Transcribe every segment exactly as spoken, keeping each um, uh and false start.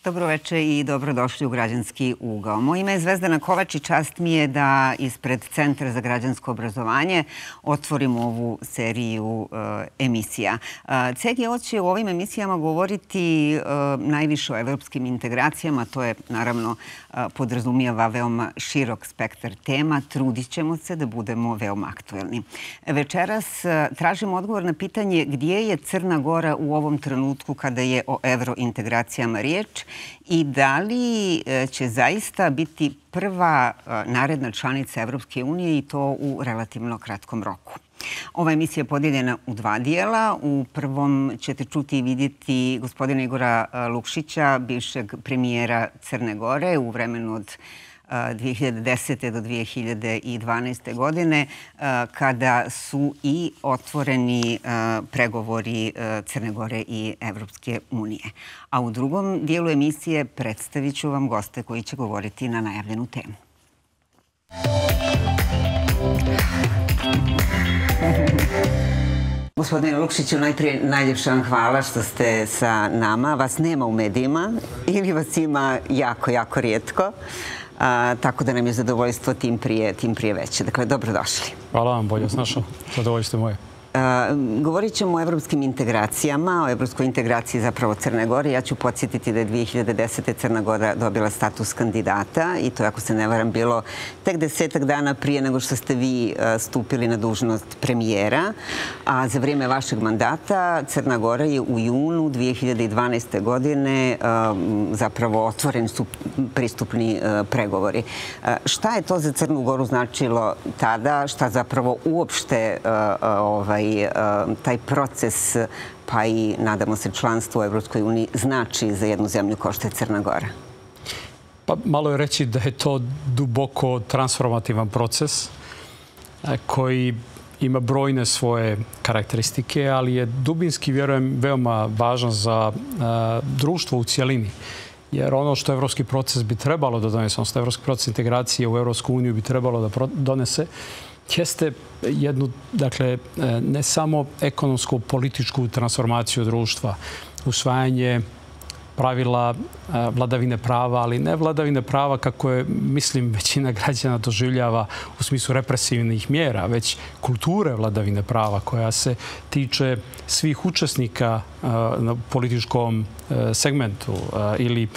Dobroveče i dobrodošli u Građanski ugao. Moje ime je Zvezdana Kovač i čast mi je da ispred Centra za građansko obrazovanje otvorimo ovu seriju emisija. C G O će u ovim emisijama govoriti najviše o evropskim integracijama. To je, naravno, podrazumijeva veoma širok spektar tema. Trudit ćemo se da budemo veoma aktuelni. Večeras tražimo odgovor na pitanje gdje je Crna Gora u ovom trenutku kada je o evrointegracijama riječ i da li će zaista biti prva naredna članica Evropske unije i to u relativno kratkom roku. Ova emisija je podijeljena u dva dijela. U prvom ćete čuti i vidjeti gospodina Igora Lukšića, bivšeg premijera Crne Gore u vremenu od dvije hiljade desete do dvije hiljade dvanaeste. godine, kada su i otvoreni pregovori Crne Gore i Evropske unije. A u drugom dijelu emisije predstavit ću vam goste koji će govoriti na najavljenu temu. Gospodine Lukšiću, najprije najljepša vam hvala što ste sa nama. Vas nema u medijima ili vas ima jako, jako rijetko. Tako da nam je zadovoljstvo tim prije, tim prije veće. Dakle, dobrodošli. Hvala vam, bolje snašao. Zadovoljstvo moje. Govorit ćemo o evropskim integracijama, o evropskoj integraciji zapravo Crne Gore. Ja ću podsjetiti da je dvije hiljade desete. Crna Gora dobila status kandidata i to, ako se ne varam, bilo tek desetak dana prije nego što ste vi stupili na dužnost premijera. A za vrijeme vašeg mandata Crna Gora je u junu dvije hiljade dvanaeste. godine zapravo otvoreni su pristupni pregovori. Šta je to za Crnu Goru značilo tada? Šta zapravo uopšte ovaj taj proces, pa i, nadamo se, članstvo u Evropskoj uniji znači za jednu zemlju kao što je Crna Gora? Pa malo je reći da je to duboko transformativan proces koji ima brojne svoje karakteristike, ali je dubinski, vjerujem, veoma važan za društvo u cijelini. Jer ono što evropski proces bi trebalo da donese, odnosno evropski proces integracije u Evropsku uniju bi trebalo da donese, jeste jednu, dakle, ne samo ekonomsku, političku transformaciju društva, usvajanje pravila vladavine prava, ali ne vladavine prava kako je, mislim, većina građana doživljava u smislu represivnih mjera, već kulture vladavine prava koja se tiče svih učesnika na političkom segmentu ili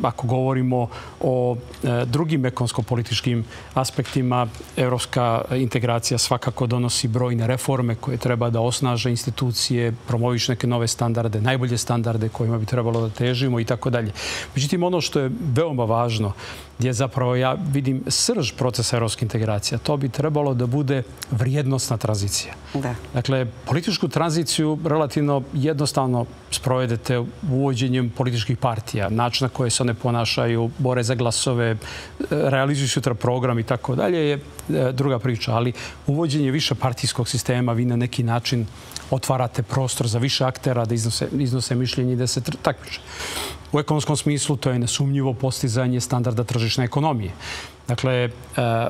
ako govorimo o drugim ekonomsko-političkim aspektima, evropska integracija svakako donosi brojne reforme koje treba da osnaže institucije, promoviš neke nove standarde, najbolje standarde kojima bi trebalo da težimo i tako dalje. Međutim, ono što je veoma važno je zapravo, ja vidim, srž procesa evropske integracije. To bi trebalo da bude vrijednostna tranzicija. Dakle, političku tranziciju relativno jednostavno sprovedete uvođenjem političkih partija, način na koje se one ponašaju, bore za glasove, realizuju sutra program i tako dalje je druga priča. Ali uvođenje više partijskog sistema, vi na neki način otvarate prostor za više aktera da iznose, iznose mišljenje i da se takmiče. U ekonomskom smislu to je nesumnjivo postizanje standarda tržišne ekonomije. Dakle,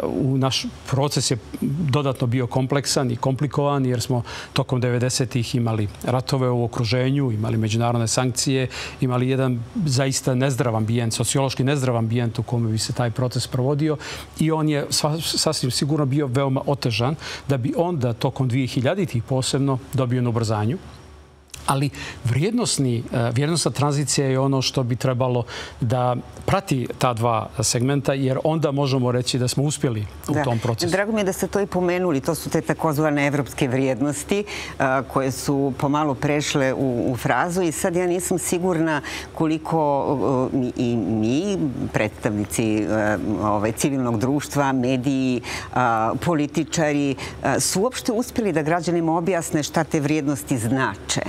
u naš proces je dodatno bio kompleksan i komplikovan jer smo tokom devedesetih imali ratove u okruženju, imali međunarodne sankcije, imali jedan zaista nezdrav ambijent, sociološki nezdrav ambijent u kome bi se taj proces provodio i on je sasvim sigurno bio veoma otežan da bi onda tokom dvije hiljaditih posebno dobio na ubrzanju. Ali vrijednostna tranzicija je ono što bi trebalo da prati ta dva segmenta, jer onda možemo reći da smo uspjeli u tom procesu. Drago mi je da ste to i pomenuli. To su te takozvane evropske vrijednosti koje su pomalo prešle u frazu i sad ja nisam sigurna koliko i mi, predstavnici civilnog društva, mediji, političari, su uopšte uspjeli da građanima objasne šta te vrijednosti znače.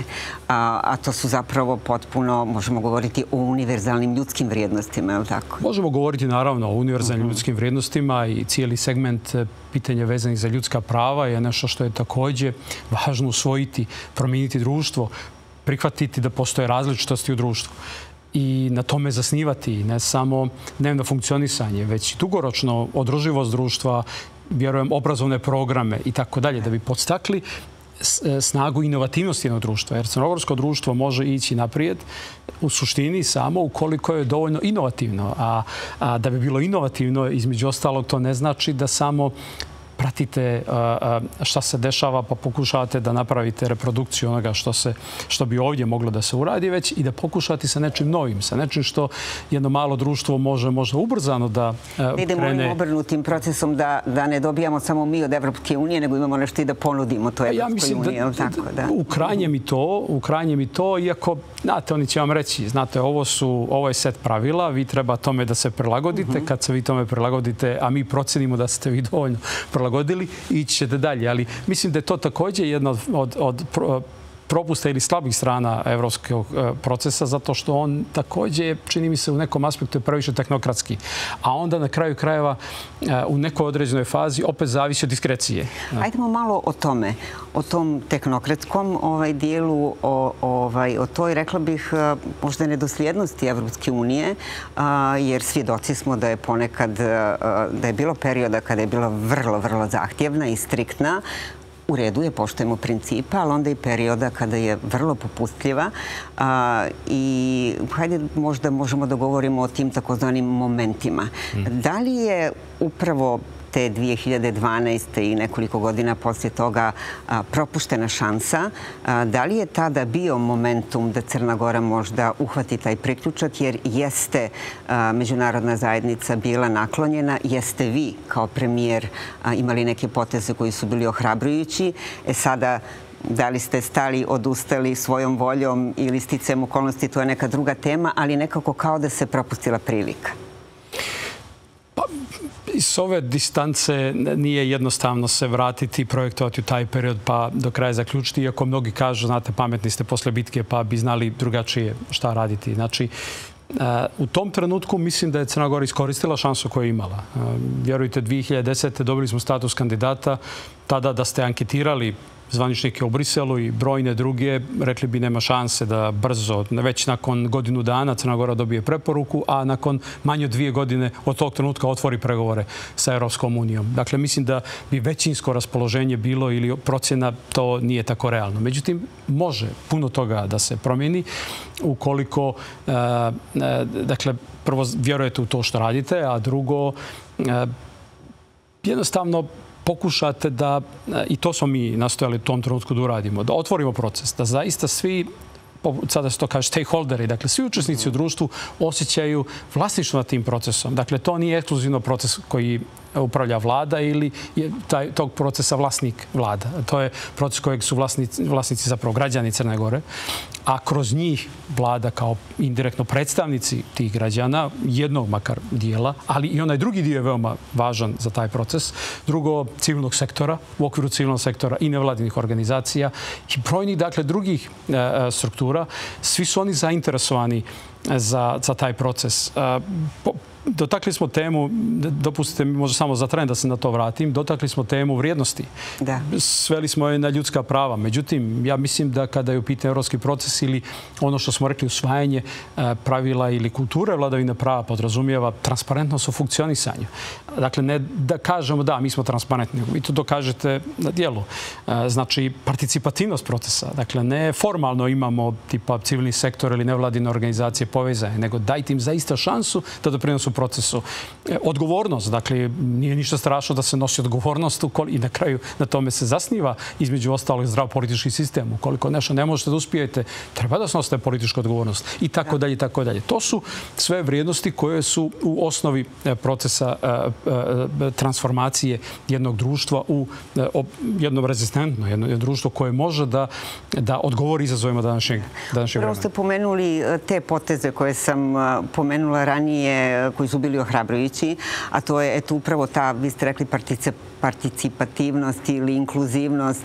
A to su zapravo potpuno, možemo govoriti o univerzalnim ljudskim vrijednostima, je li tako? Možemo govoriti naravno o univerzalnim ljudskim vrijednostima i cijeli segment pitanja vezanih za ljudska prava je nešto što je također važno usvojiti, promijeniti društvo, prihvatiti da postoje različitosti u društvu i na tome zasnivati ne samo dnevno funkcionisanje, već i dugoročno održivost društva, vjerujem, obrazovne programe i tako dalje, da bi podstakli snagu inovativnosti jednog društva. Jer crnogorsko društvo može ići naprijed u suštini samo ukoliko je dovoljno inovativno. A, a da bi bilo inovativno, između ostalog, to ne znači da samo pratite šta se dešava pa pokušavate da napravite reprodukciju onoga što, se, što bi ovdje moglo da se uradi, već i da pokušate sa nečim novim, sa nečim što jedno malo društvo može možda ubrzano da krene. Idemo ovim obrnutim procesom da, da ne dobijamo samo mi od Evropske unije, nego imamo nešto i da ponudimo to Evropskoj uniji. Ja mislim da, da u krajnjem i to, u krajnjem i to, iako, znate, oni će vam reći, znate, ovo, su, ovo je set pravila, vi treba tome da se prilagodite, kad se vi tome prilagodite, a mi procenimo da ste vi dovoljno prilagodili, ići ćete dalje. Ali mislim da je to također jedna od, od, od propusta ili slabih strana evropskog procesa, zato što on također, čini mi se, u nekom aspektu je previše tehnokratski. A onda na kraju krajeva u nekoj određenoj fazi opet zavisi od diskrecije. Ajdemo malo o tome, o tom tehnokratskom ovaj dijelu, o, ovaj, o toj, rekla bih, možda nedosljednosti Evropske unije, jer svjedoci smo da je ponekad, da je bilo perioda kada je bila vrlo, vrlo zahtjevna i striktna. U redu je, poštujemo principa, ali onda i perioda kada je vrlo popustljiva. I hajde možda možemo da govorimo o tim takozvanim momentima. Da li je upravo te dvije hiljade dvanaeste. i nekoliko godina poslije toga propuštena šansa? Da li je tada bio momentum da Crna Gora možda uhvati taj priključak, jer jeste međunarodna zajednica bila naklonjena, jeste vi kao premijer imali neke poteze koji su bili ohrabrujući? E sada, da li ste stali, odustali svojom voljom ili sticajem okolnosti, to je neka druga tema, ali nekako kao da se propustila prilika. S ove distance nije jednostavno se vratiti i projektovati u taj period pa do kraja zaključiti, iako mnogi kažu, znate, pametni ste posle bitke pa bi znali drugačije šta raditi. Znači, u tom trenutku mislim da je Crna Gora iskoristila šansu koju je imala. Vjerujte, dvije hiljade desete. dobili smo status kandidata. Tada da ste anketirali zvaničnike u Briselu i brojne druge, rekli bi nema šanse da brzo, već nakon godinu dana Crna Gora dobije preporuku, a nakon manje od dvije godine od tog trenutka otvori pregovore sa Evropskom unijom. Dakle, mislim da bi većinsko raspoloženje bilo ili procjena, to nije tako realno. Međutim, može puno toga da se promijeni ukoliko, dakle, prvo vjerujete u to što radite, a drugo, jednostavno pokušate da, i to smo mi nastojali u tom trenutku da uradimo, da otvorimo proces, da zaista svi, sada se to kaže stakeholderi, dakle svi učesnici u društvu osjećaju vlasništvo nad tim procesom. Dakle, to nije ekskluzivno proces koji upravlja vlada ili je taj, tog procesa vlasnik vlada. To je proces kojeg su vlasnici, vlasnici zapravo građani Crne Gore, a kroz njih vlada kao indirektno predstavnici tih građana, jednog makar dijela, ali i onaj drugi dio je veoma važan za taj proces. Drugo, civilnog sektora, u okviru civilnog sektora i nevladinih organizacija i brojnih, dakle, drugih e, struktura. Svi su oni zainteresovani za, za taj proces. E, po, Dotakli smo temu, dopustite mi možda samo za tren da se na to vratim, dotakli smo temu vrijednosti. Da. Sveli smo je na ljudska prava. Međutim, ja mislim da kada je u pitanju evropski proces ili ono što smo rekli usvajanje pravila ili kulture vladavine prava podrazumijeva transparentnost u funkcionisanju. Dakle, ne da kažemo da, mi smo transparentni, vi to dokažete na dijelu. Znači, participativnost procesa. Dakle, ne formalno imamo tipa civilni sektor ili nevladine organizacije povezane, nego dajte im zaista šansu da doprinosu procesu. Odgovornost, dakle, nije ništa strašno da se nosi odgovornost i na kraju na tome se zasniva između ostalog zdrav politički sistem. Ukoliko nešto ne možete da uspijete, treba da snosite političku odgovornost i tako dalje i tako dalje. To su sve vrijednosti koje su u osnovi procesa transformacije jednog društva u jedno rezistentno, jedno društvo koje može da, da odgovori izazovima današnjeg, današnjeg vremena. Prvo ste pomenuli te poteze koje sam pomenula ranije, koji su bili ohrabrujući, a to je eto upravo ta, vi ste rekli, participativnost ili inkluzivnost.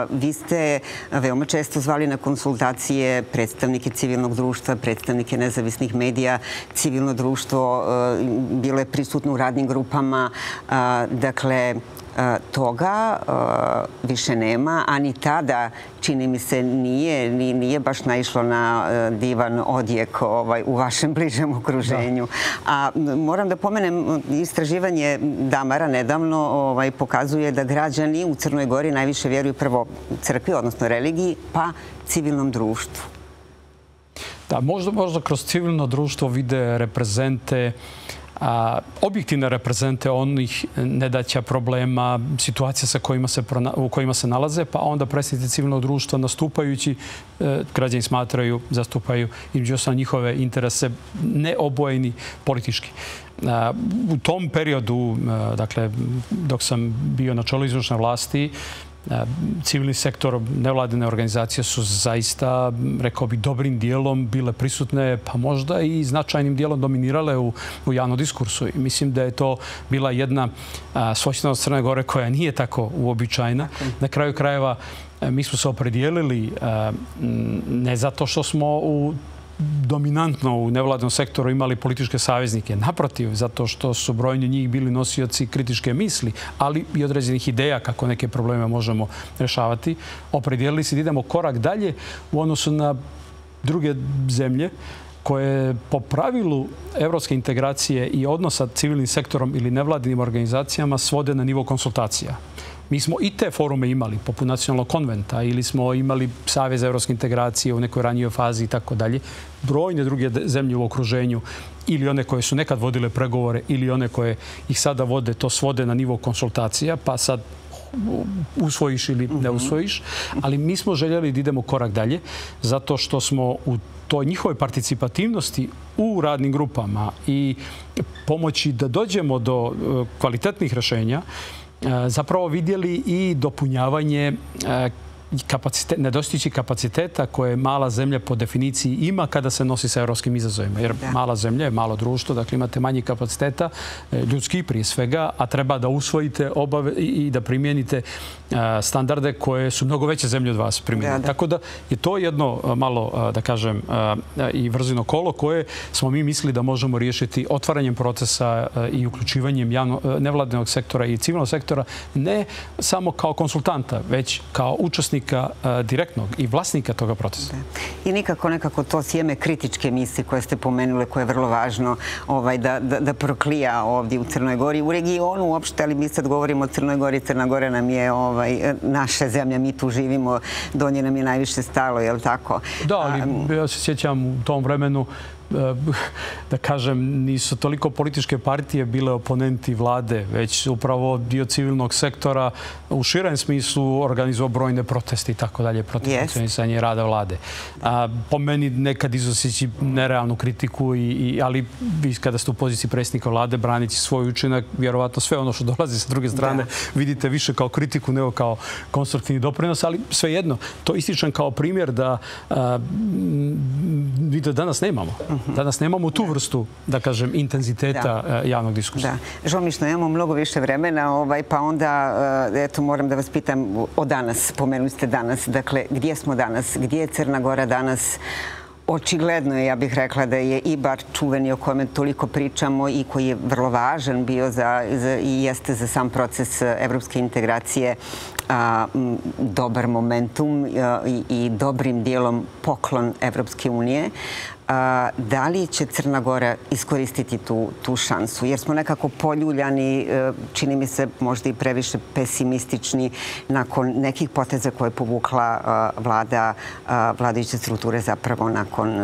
Vi ste veoma često zvali na konsultacije predstavnike civilnog društva, predstavnike nezavisnih medija, civilno društvo bilo je prisutno u radnim grupama. Dakle, toga više nema, a ni tada, čini mi se, nije, nije baš naišlo na divan odjek u vašem bližem okruženju. A moram da pomenem istraživanje Damara nedavno ovaj, pokazuje da građani u Crnoj Gori najviše vjeruju prvo crkvi, odnosno religiji, pa civilnom društvu. Da, možda, možda kroz civilno društvo vide reprezente, a, objektivne reprezente onih nedaća, problema, situacija sa kojima se, u kojima se nalaze, pa onda predstavnici civilnog društva nastupajući, e, građani smatraju, zastupaju između ostalog njihove interese neobojeni politički. A, u tom periodu, a, dakle, dok sam bio na čelu izvršne vlasti, civilni sektor, nevladine organizacije su zaista, rekao bih, dobrim dijelom bile prisutne, pa možda i značajnim dijelom dominirale u, u javnom diskursu. I mislim da je to bila jedna svojstvenost Crne Gore koja nije tako uobičajena. Na kraju krajeva mi smo se opredijelili ne zato što smo u dominantno u nevladnom sektoru imali političke saveznike. Naprotiv, zato što su brojni njih bili nosioci kritičke misli, ali i određenih ideja kako neke probleme možemo rešavati. Opredijelili se da idemo korak dalje u odnosu na druge zemlje koje po pravilu evropske integracije i odnosa civilnim sektorom ili nevladinim organizacijama svode na nivo konsultacija. Mi smo i te forume imali, poput nacionalnog konventa, ili smo imali Savez evropske integracije u nekoj ranijoj fazi i tako dalje. Brojne druge zemlje u okruženju, ili one koje su nekad vodile pregovore, ili one koje ih sada vode, to svode na nivo konsultacija, pa sad usvojiš ili ne usvojiš. Ali mi smo željeli da idemo korak dalje, zato što smo u toj njihovoj participativnosti u radnim grupama i pomoći da dođemo do kvalitetnih rešenja, zapravo vidjeli i dopunjavanje kapacitet, nedostići kapaciteta koje mala zemlja po definiciji ima kada se nosi sa evropskim izazovima. Jer mala zemlja je malo društvo, dakle imate manje kapaciteta, ljudski prije svega, a treba da usvojite obave i da primijenite standarde koje su mnogo veće zemlje od vas primjenili. Tako da je to jedno malo, da kažem, i vrzino kolo koje smo mi mislili da možemo riješiti otvaranjem procesa i uključivanjem nevladinog sektora i civilnog sektora, ne samo kao konsultanta, već kao učesnika direktnog i vlasnika toga procesa. I nikako nekako to sjeme kritičke misli koje ste pomenule, koje je vrlo važno da proklija ovdje u Crnoj Gori, u regionu uopšte, ali mi sad govorimo o Crnoj Gori. Crna Gora nam je naša zemlja, mi tu živimo, do nje nam je najviše stalo, je li tako? Da, ali ja se sjećam u tom vremenu, da kažem, nisu toliko političke partije bile oponenti vlade, već upravo dio civilnog sektora u širem smislu organizovao brojne proteste i tako dalje protiv funkcionisanja rada vlade. Po meni nekad iznoseći nerealnu kritiku, ali vi kada ste u poziciji predsjednika vlade branići svoj učinak, vjerovatno sve ono što dolazi sa druge strane vidite više kao kritiku nego kao konstruktivni doprinos, ali svejedno, to ističem kao primjer da vi da danas nemamo. Danas nemamo tu vrstu, da kažem, intenziteta javnog diskursa. Žao, imamo mnogo više vremena, pa onda, eto, moram da vas pitam o danas. Pomenuli ste danas. Dakle, gdje smo danas? Gdje je Crna Gora danas? Očigledno je, ja bih rekla, da je Ibar čuveni o kojem toliko pričamo i koji je vrlo važan bio i jeste za sam proces evropske integracije dobar momentum i dobrim dijelom poklon Evropske unije. Da li će Crna Gora iskoristiti tu šansu? Jer smo nekako poljuljani, čini mi se možda i previše pesimistični nakon nekih poteza koje je povukla vlada, vladajuće strukture zapravo nakon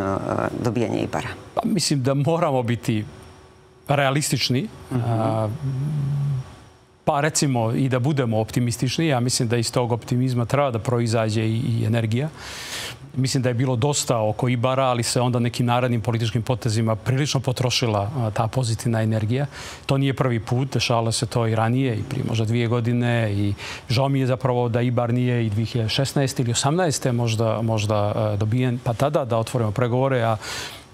dobijanja Ibara. Mislim da moramo biti realistični. Pa recimo i da budemo optimistični. Ja mislim da iz tog optimizma treba da proizađe i energija. Mislim da je bilo dosta oko Ibara, ali se onda nekim narednim političkim potezima prilično potrošila ta pozitivna energija. To nije prvi put, dešavalo se to i ranije, i prije možda dvije godine. I žao mi je zapravo da Ibar nije i dvije hiljade šesnaeste ili osamnaeste možda dobijen, pa tada da otvorimo pregovore. A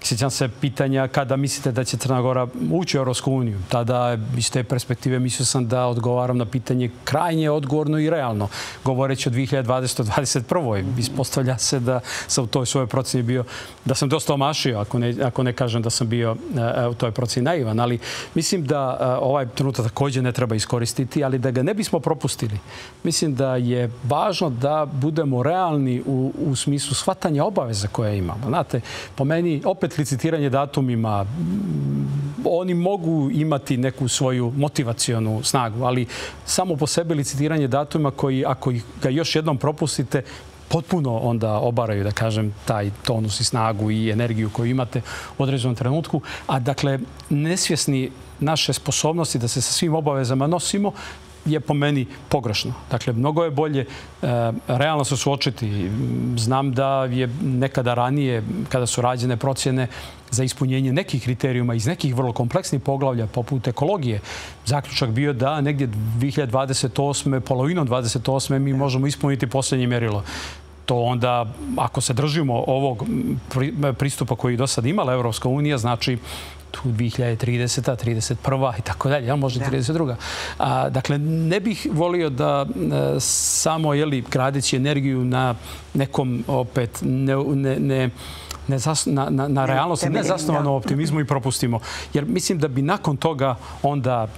sjećam se pitanja kada mislite da će Crna Gora ući u Evropsku uniju. Tada iz te perspektive mislio sam da odgovaram na pitanje krajnje odgovorno i realno. Govoreći o dvije hiljade dvadesetoj do dvadeset prvoj Ispostavlja se da sam u toj svojoj proceni bio, da sam dosta omašio, ako ne kažem da sam bio u toj proceni naivan. Ali mislim da ovaj trenutak također ne treba iskoristiti, ali da ga ne bismo propustili. Mislim da je važno da budemo realni u smislu shvatanja obaveza koje imamo. Znate, po meni opet opet licitiranje datumima, oni mogu imati neku svoju motivacionu snagu, ali samo po sebi licitiranje datuma koji, ako ga još jednom propustite, potpuno onda obaraju, da kažem, taj tonus i snagu i energiju koju imate u određenom trenutku. A dakle, nesvjesni naše sposobnosti da se sa svim obavezama nosimo je po meni pogrešno. Dakle, mnogo je bolje realno se suočiti. Znam da je nekada ranije, kada su rađene procjene za ispunjenje nekih kriterijuma iz nekih vrlo kompleksnih poglavlja, poput ekologije, zaključak bio da negdje dvije hiljade dvadeset osme, polovinom dvadeset osme mi možemo ispuniti posljednje mjerilo. To onda, ako se držimo ovog pristupa koji do sad imala Evropska unija, znači tu dvije hiljade trideseta, trideset prva i tako dalje, možda i trideset druga. Dakle, ne bih volio da samo gradeći energiju na nekom opet ne na realnosti, ne zasnovano optimizmu i propustimo. Jer mislim da bi nakon toga onda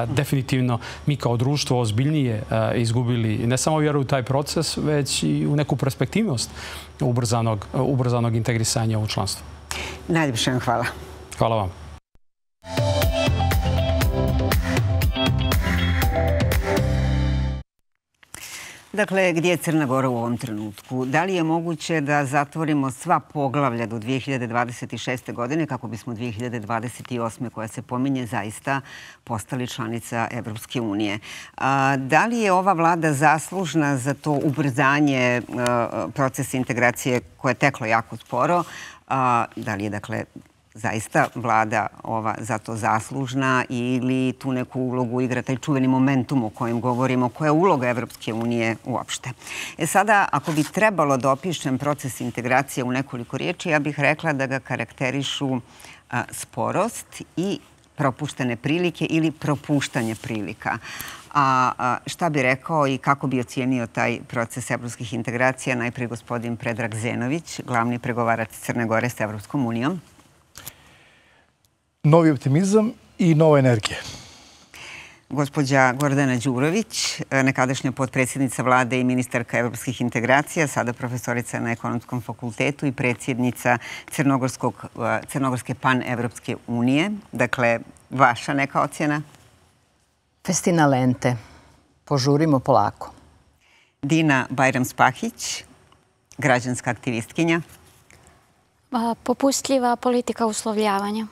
definitivno mi kao društvo ozbiljnije izgubili ne samo vjeru u taj proces, već i u neku perspektivnost ubrzanog integrisanja u članstvo. Najljepše vam hvala. Hvala vam. Dakle, gdje je Crna Gora u ovom trenutku? Da li je moguće da zatvorimo sva poglavlja do dvije hiljade dvadeset šeste. godine kako bismo dvije hiljade dvadeset osme. koja se pominje zaista postali članica Evropske unije? Da li je ova vlada zaslužna za to ubrzanje procesa integracije koje je teklo jako sporo? Da li je, dakle, zaista vlada ova za to zaslužna ili tu neku ulogu igra taj čuveni momentum o kojem govorimo, koja je uloga Evropske unije uopšte? E sada, ako bi trebalo da opišem proces integracije u nekoliko riječi, ja bih rekla da ga karakterišu sporost i propuštene prilike ili propuštanje prilika. A šta bi rekao i kako bi ocijenio taj proces evropskih integracija? Najprije gospodin Predrag Zenović, glavni pregovarač Crne Gore s Evropskom unijom. Novi optimizam i nova energija. Gospođa Gordana Đurović, nekadašnja potpredsjednica vlade i ministarka evropskih integracija, sada profesorica na Ekonomskom fakultetu i predsjednica Crnogorske pan-evropske unije. Dakle, vaša neka ocjena? Festina lente. Požurimo polako. Dina Bajram-Spahić, građanska aktivistkinja. Popustljiva politika uslovljavanja.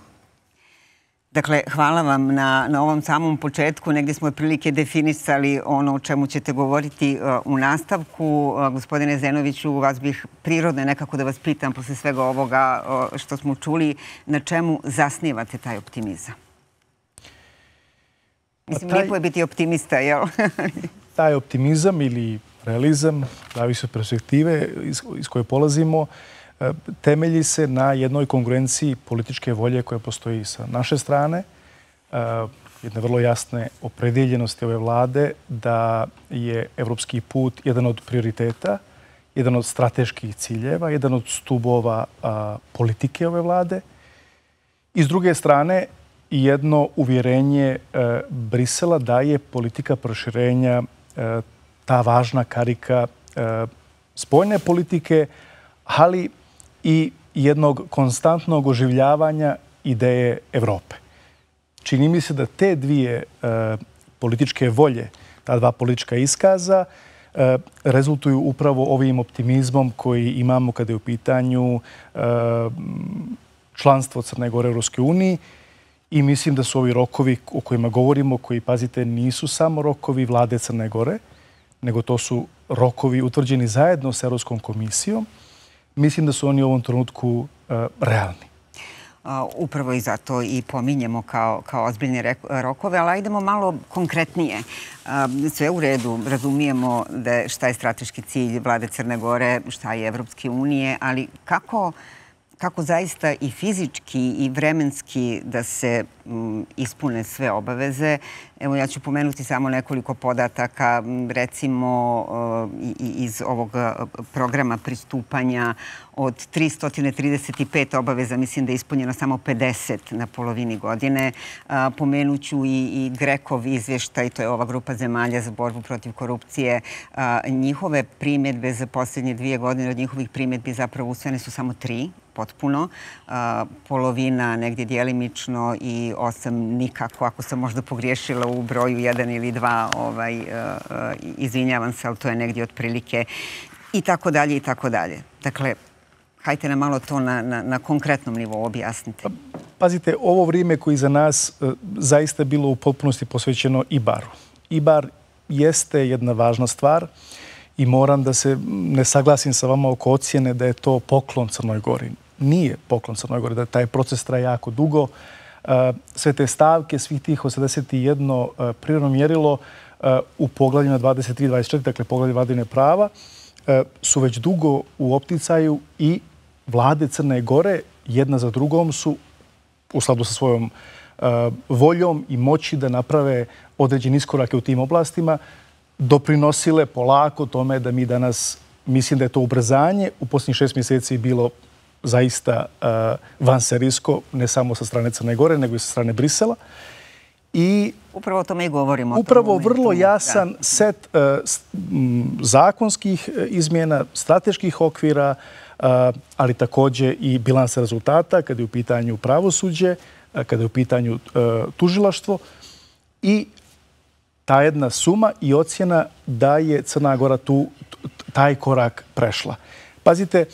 Dakle, hvala vam na ovom samom početku. Negdje smo prilike definisali ono o čemu ćete govoriti u nastavku. Gospodine Zenoviću, vas bih prirodno nekako da vas pitam posle svega ovoga što smo čuli, na čemu zasnivate taj optimizam? Mislim, lijepo je biti optimista, jel? Taj optimizam ili realizam, zavisi od perspektive iz koje polazimo, temelji se na jednoj kongruenciji političke volje koja postoji sa naše strane, jedne vrlo jasne opredeljenosti ove vlade da je evropski put jedan od prioriteta, jedan od strateških ciljeva, jedan od stubova politike ove vlade. I s druge strane, jedno uvjerenje Brisela da je politika proširenja ta važna karika spoljne politike, ali i jednog konstantnog oživljavanja ideje Evrope. Čini mi se da te dvije političke volje, ta dva politička iskaza, rezultuju upravo ovim optimizmom koji imamo kada je u pitanju članstvo Crne Gore u Evropskoj uniji. I mislim da su ovi rokovi o kojima govorimo, koji, pazite, nisu samo rokovi vlade Crne Gore, nego to su rokovi utvrđeni zajedno s Evropskom komisijom. Mislim da su oni u ovom trenutku realni. Upravo i zato i pominjemo kao ozbiljne rokove, ali ajdemo malo konkretnije. Sve u redu, razumijemo šta je strateški cilj vlade Crne Gore, šta je Evropske unije, ali kako zaista i fizički i vremenski da se ispune sve obaveze. Evo, ja ću pomenuti samo nekoliko podataka, recimo iz ovog programa pristupanja od tristo trideset pet obaveza, mislim da je ispunjeno samo pedeset na polovini godine. Pomenuću i Grekov izvještaj, to je ova grupa zemalja za borbu protiv korupcije. Njihove primjedbe za posljednje dvije godine, od njihovih primjedbi zapravo usvojene su samo tri potpuno, polovina negdje djelimično i osam nikako. Ako sam možda pogriješila u broju jedan ili dva, izvinjavam se, ali to je negdje otprilike i tako dalje i tako dalje. Dakle, hajte nam malo to na konkretnom nivou objasnite. Pazite, ovo vrijeme koje za nas zaista je bilo u potpunosti posvećeno IBAR-u. IBAR jeste jedna važna stvar i moram da se ne saglasim sa vama oko ocjene da je to poklon Crnoj Gori. Nije poklon Crnoj Gori, da taj proces traje jako dugo. Sve te stavke, svih tih osamdeset jedno prirodno mjerilo u poglavljima dvadeset tri dvadeset četiri, dakle poglavlje vladavine prava, su već dugo u opticaju i vlade Crne Gore jedna za drugom su u skladu sa svojom voljom i moći da naprave određene iskorake u tim oblastima, doprinosile polako tome da mi danas, mislim da je to ubrzanje u posljednjih šest mjeseci bilo zaista vanserijsko, ne samo sa strane Crne Gore, nego i sa strane Brisela. I upravo o tome i govorimo. Upravo vrlo jasan set zakonskih izmjena, strateških okvira, ali također i bilansa rezultata kada je u pitanju pravosuđe, kada je u pitanju tužilaštvo i ta jedna suma i ocjena da je Crna Gora tu taj korak prešla. Pazite,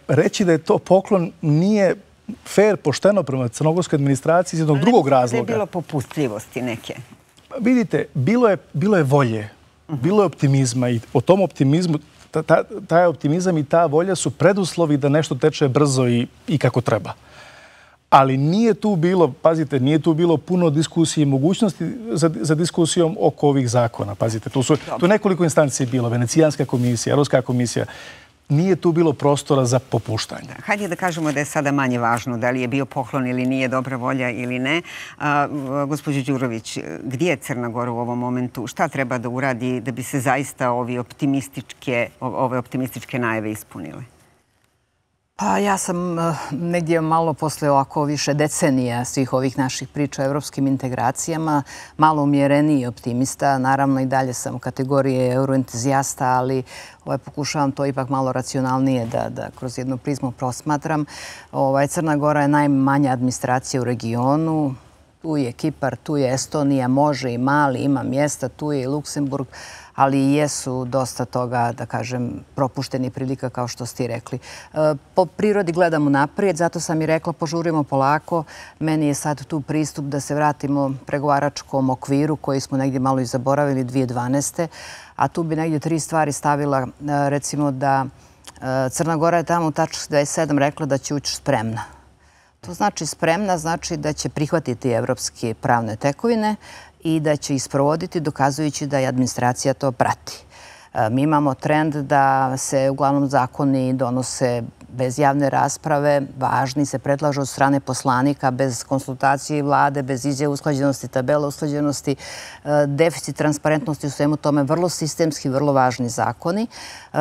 reći da je to poklon nije fair, pošteno prema crnogorskoj administraciji iz jednog drugog razloga. Da je bilo popustljivosti neke? Vidite, bilo je volje, bilo je optimizma i o tom optimizmu, taj optimizam i ta volja su preduslovi da nešto teče brzo i kako treba. Ali nije tu bilo, pazite, nije tu bilo puno diskusije i mogućnosti za diskusijom oko ovih zakona. Pazite, tu je nekoliko instancije bilo, Venecijanska komisija, Europska komisija. Nije tu bilo prostora za popuštanje. Hajde da kažemo da je sada manje važno da li je bio poklon ili nije, dobra volja ili ne. Gospođo Đurović, gdje je Crna Gora u ovom momentu? Šta treba da uradi da bi se zaista ove optimističke najave ispunile? Pa ja sam negdje malo posle ovako više decenija svih ovih naših priča o evropskim integracijama malo umjereniji optimista. Naravno i dalje sam u kategoriji euroentuzijasta, ali pokušavam to ipak malo racionalnije da kroz jednu prizmu prosmatram. Crna Gora je najmanja administracija u regionu. Tu je Kipar, tu je Estonija, može i Mali, ima mjesta, tu je i Luksemburg, ali i jesu dosta toga, da kažem, propušteni prilika, kao što ste i rekli. Po prirodi gledamo naprijed, zato sam i rekla požurimo polako. Meni je sad tu pristup da se vratimo pregovaračkom okviru koji smo negdje malo i zaboravili dvije tisuće dvanaeste. A tu bi negdje tri stvari stavila, recimo da Crna Gora je tamo u tački dvadeset sedam rekla da će ući spremna. To znači spremna, znači da će prihvatiti evropske pravne tekovine i da će isprovoditi dokazujući da je administracija to prati. Mi imamo trend da se uglavnom zakoni donose bez javne rasprave, važni se predlažu od strane poslanika, bez konsultacije vlade, bez izjave usklađenosti, tabela usklađenosti, deficit transparentnosti u svemu tome, vrlo sistemski, vrlo važni zakoni.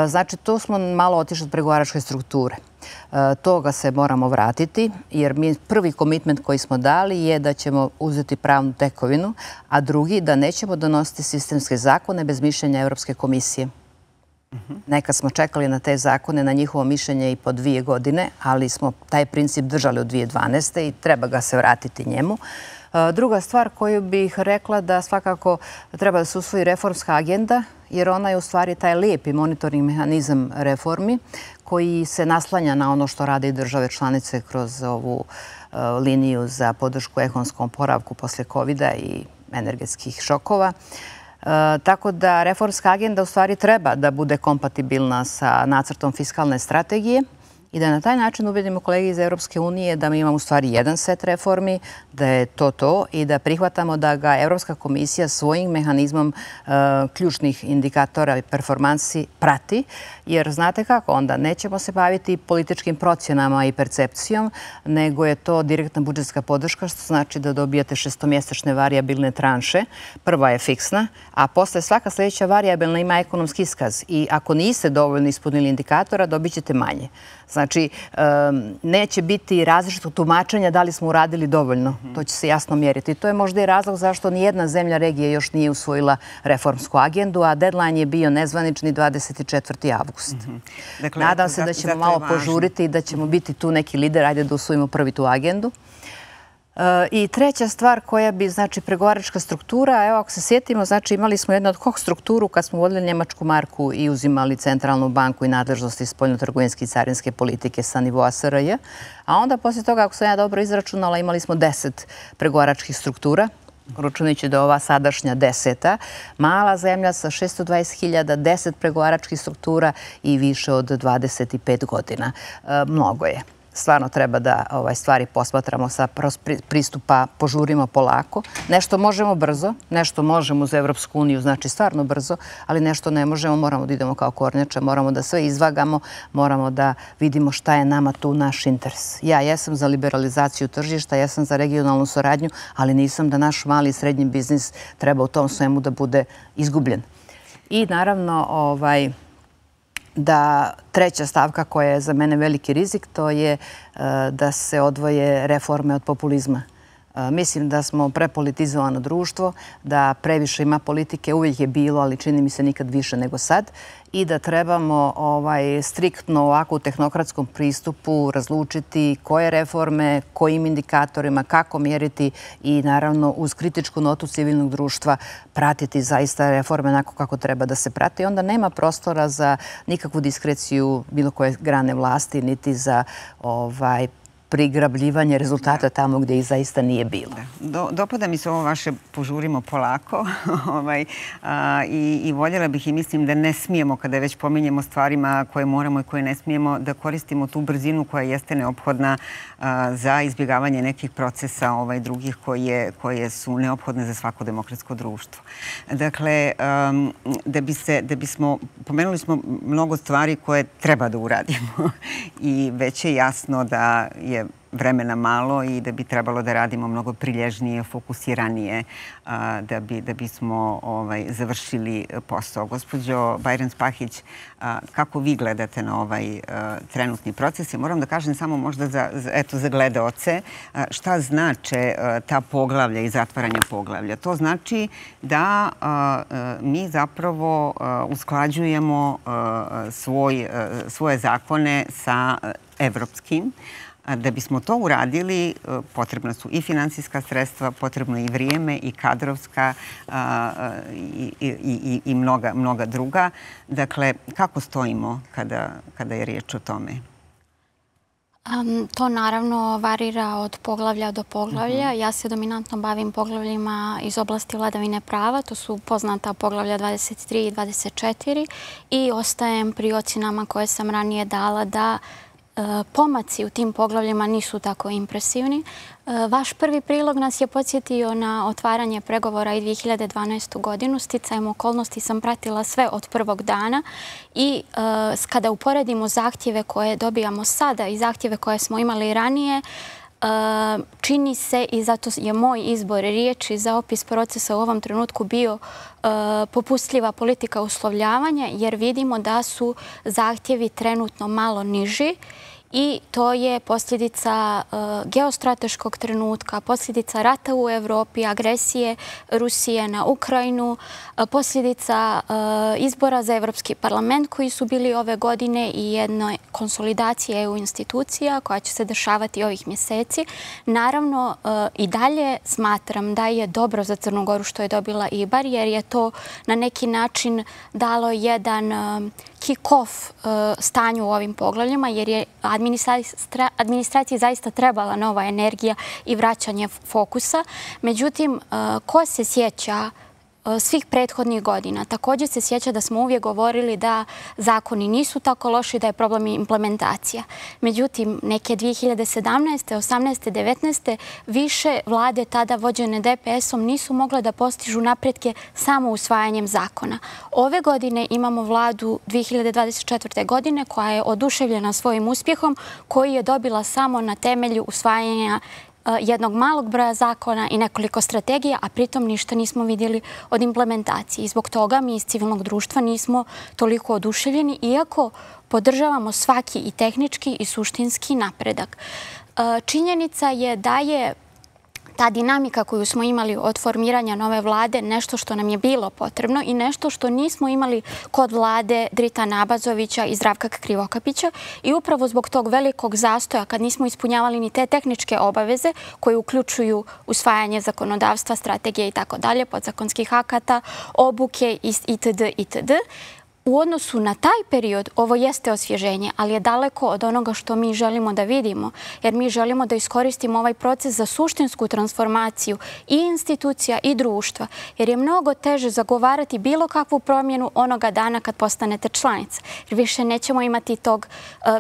Znači, tu smo malo otišli od pregovaračke strukture. Toga se moramo vratiti, jer mi prvi komitment koji smo dali je da ćemo uzeti pravnu tekovinu, a drugi da nećemo donositi sistemske zakone bez mišljenja Evropske komisije. Nekad smo čekali na te zakone, na njihovo mišljenje i po dvije godine, ali smo taj princip držali od dvije tisuće dvanaeste i treba ga se vratiti njemu. Druga stvar koju bih rekla da svakako treba da se usvoji reformska agenda, jer ona je u stvari taj lijepi monitoring mehanizam reformi koji se naslanja na ono što rade i države članice kroz ovu liniju za podršku ekonomskom oporavku posle kovida i energetskih šokova. Tako da reformska agenda u stvari treba da bude kompatibilna sa nacrtom fiskalne strategije i da na taj način ubedimo kolege iz Evropske unije da mi imamo u stvari jedan set reformi, da je to to i da prihvatamo da ga Evropska komisija svojim mehanizmom uh, ključnih indikatora i performansi prati, jer znate kako, onda nećemo se baviti političkim procjenama i percepcijom, nego je to direktna budžetska podrška, što znači da dobijate šestomjesečne varijabilne tranše. Prva je fiksna, a posle svaka sljedeća varijabilna ima ekonomski iskaz i ako niste dovoljno ispunili indikatora, dobit ćete manje. Znači, neće biti različitog tumačenja da li smo uradili dovoljno. To će se jasno mjeriti. To je možda i razlog zašto nijedna zemlja regije još nije usvojila reformsku agendu, a deadline je bio nezvanični dvadeset četvrti avgust. Nadam se da ćemo malo požuriti i da ćemo biti tu neki lider. Ajde da usvojimo prvi tu agendu. I treća stvar koja bi, znači, pregovaračka struktura, evo ako se sjetimo, znači imali smo jednu od hoh strukturu kad smo vodili Njemačku marku i uzimali centralnu banku i nadležnosti spoljnotrgovinske i carinske politike sa nivoa S R J, a onda poslije toga, ako sam ja dobro izračunala, imali smo deset pregovaračkih struktura, računajući da je ova sadašnja deseta, mala zemlja sa šesto dvadeset hiljada, deset pregovaračkih struktura i više od dvadeset pet godina. Mnogo je. Stvarno treba da stvari posmatramo sa pristupa, požurimo polako. Nešto možemo brzo, nešto možemo uz Evropsku uniju, znači stvarno brzo, ali nešto ne možemo, moramo da idemo kao kornjače, moramo da sve izvagamo, moramo da vidimo šta je nama tu naš interes. Ja jesam za liberalizaciju tržišta, jesam za regionalnu saradnju, ali nisam da naš mali i srednji biznis treba u tom svemu da bude izgubljen. I naravno, ovaj... da treća stavka koja je za mene veliki rizik, to je da se odvoje reforme od populizma. Mislim da smo prepolitizovano društvo, da previše ima politike, uvijek je bilo, ali čini mi se nikad više nego sad, i da trebamo striktno ovako u tehnokratskom pristupu razlučiti koje reforme, kojim indikatorima, kako mjeriti i naravno uz kritičku notu civilnog društva pratiti zaista reforme onako kako treba da se prati. Onda nema prostora za nikakvu diskreciju bilo koje grane vlasti, niti za ovaj prigrabljivanje rezultata tamo gdje ih zaista nije bilo. Dopada mi se ovo vaše požurimo polako i voljela bih i mislim da ne smijemo, kada već pominjemo stvarima koje moramo i koje ne smijemo, da koristimo tu brzinu koja jeste neophodna za izbjegavanje nekih procesa drugih koje su neophodne za svako demokratsko društvo. Dakle, da bismo, pomenuli smo mnogo stvari koje treba da uradimo i već je jasno da je vremena malo i da bi trebalo da radimo mnogo prilježnije, fokusiranije da bismo završili posao. Gospođo Bajram-Spahić, kako vi gledate na ovaj trenutni proces? I moram da kažem samo možda za gledaoce šta znače ta poglavlja i zatvaranje poglavlja. To znači da mi zapravo usklađujemo svoje zakone sa evropskim. Da bismo to uradili, potrebna su i finansijska sredstva, potrebno je i vrijeme, i kadrovska i mnoga druga. Dakle, kako stojimo kada je riječ o tome? To naravno varira od poglavlja do poglavlja. Ja se dominantno bavim poglavljima iz oblasti vladavine prava. To su poznata poglavlja dvadeset tri i dvadeset četiri i ostajem pri ocjenama koje sam ranije dala da pomaci u tim poglavljima nisu tako impresivni. Vaš prvi prilog nas je podsjetio na otvaranje pregovora i dvije hiljade dvanaestu. godinu. Sticajem okolnosti sam pratila sve od prvog dana i kada uporedimo zahtjeve koje dobijamo sada i zahtjeve koje smo imali ranije, čini se, i zato je moj izbor riječi za opis procesa u ovom trenutku bio popustljiva politika uslovljavanja, jer vidimo da su zahtjevi trenutno malo niži i to je posljedica geostrateškog trenutka, posljedica rata u Evropi, agresije Rusije na Ukrajinu, posljedica izbora za Evropski parlament koji su bili ove godine i jednoj konsolidacije E U institucija koja će se dešavati ovih mjeseci. Naravno, i dalje smatram da je dobro za Crnu Goru što je dobila I B A R, jer je to na neki način dalo jedan kick-off stanju u ovim poglavljima, jer je administraciji zaista trebala nova energija i vraćanje fokusa. Međutim, ko se sjeća svih prethodnih godina. Također se sjeća da smo uvijek govorili da zakoni nisu tako loši, da je problem implementacija. Međutim, neke dvije hiljade sedamnaeste, osamnaeste, devetnaeste više vlade tada vođene D P S-om nisu mogle da postižu napretke samo usvajanjem zakona. Ove godine imamo vladu dvije hiljade dvadeset četvrte. godine koja je oduševljena svojim uspjehom, koji je dobila samo na temelju usvajanja jednog malog broja zakona i nekoliko strategija, a pritom ništa nismo vidjeli od implementacije. I zbog toga mi iz civilnog društva nismo toliko oduševljeni, iako podržavamo svaki i tehnički i suštinski napredak. Činjenica je da je ta dinamika koju smo imali od formiranja nove vlade nešto što nam je bilo potrebno i nešto što nismo imali kod vlade Dritana Abazovića i Zdravka Krivokapića. I upravo zbog tog velikog zastoja, kad nismo ispunjavali ni te tehničke obaveze koje uključuju usvajanje zakonodavstva, strategije i tako dalje, podzakonskih akata, obuke itd. itd. U odnosu na taj period ovo jeste osvježenje, ali je daleko od onoga što mi želimo da vidimo, jer mi želimo da iskoristimo ovaj proces za suštinsku transformaciju i institucija i društva, jer je mnogo teže zagovarati bilo kakvu promjenu onoga dana kad postanete članica, jer više nećemo imati tog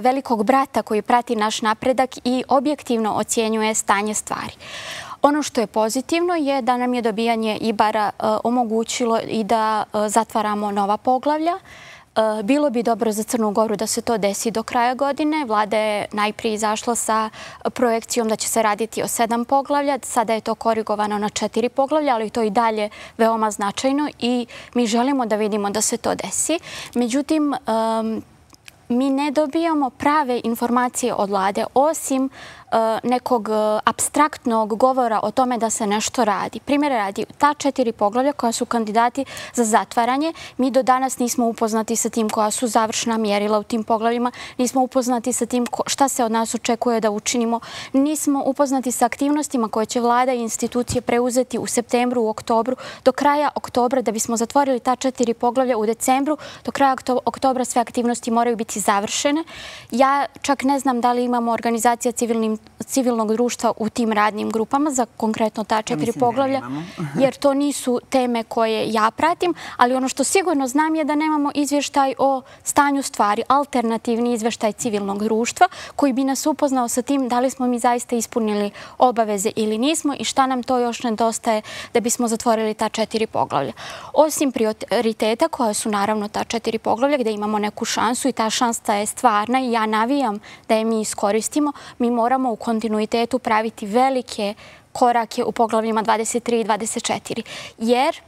velikog brata koji prati naš napredak i objektivno ocjenjuje stanje stvari. Ono što je pozitivno je da nam je dobijanje I B A R-a omogućilo i da zatvaramo nova poglavlja. Bilo bi dobro za Crnu Goru da se to desi do kraja godine. Vlada je najprije izašla sa projekcijom da će se raditi o sedam poglavlja. Sada je to korigovano na četiri poglavlja, ali to i dalje veoma značajno i mi želimo da vidimo da se to desi. Međutim, mi ne dobijamo prave informacije od vlade, osim nekog apstraktnog govora o tome da se nešto radi. Primjer radi, ta četiri poglavlja koja su kandidati za zatvaranje, mi do danas nismo upoznati sa tim koja su završna mjerila u tim poglavljima, nismo upoznati sa tim šta se od nas očekuje da učinimo, nismo upoznati sa aktivnostima koje će vlada i institucije preuzeti u septembru, u oktobru, do kraja oktobra da bismo zatvorili ta četiri poglavlja u decembru, do kraja oktobra sve aktivnosti moraju biti završene. Ja čak ne znam da li imamo organizacija civilnim civilnog društva u tim radnim grupama za konkretno ta četiri poglavlja, jer to nisu teme koje ja pratim, ali ono što sigurno znam je da nemamo izvještaj o stanju stvari, alternativni izvještaj civilnog društva koji bi nas upoznao sa tim da li smo mi zaista ispunili obaveze ili nismo i šta nam to još nedostaje da bismo zatvorili ta četiri poglavlja. Osim prioriteta koja su naravno ta četiri poglavlja gdje imamo neku šansu i ta šansa je stvarna i ja navijam da je mi iskoristimo, mi moramo u kontinuitetu praviti velike korake u poglavljima dvadeset tri i dvadeset četiri. Jer,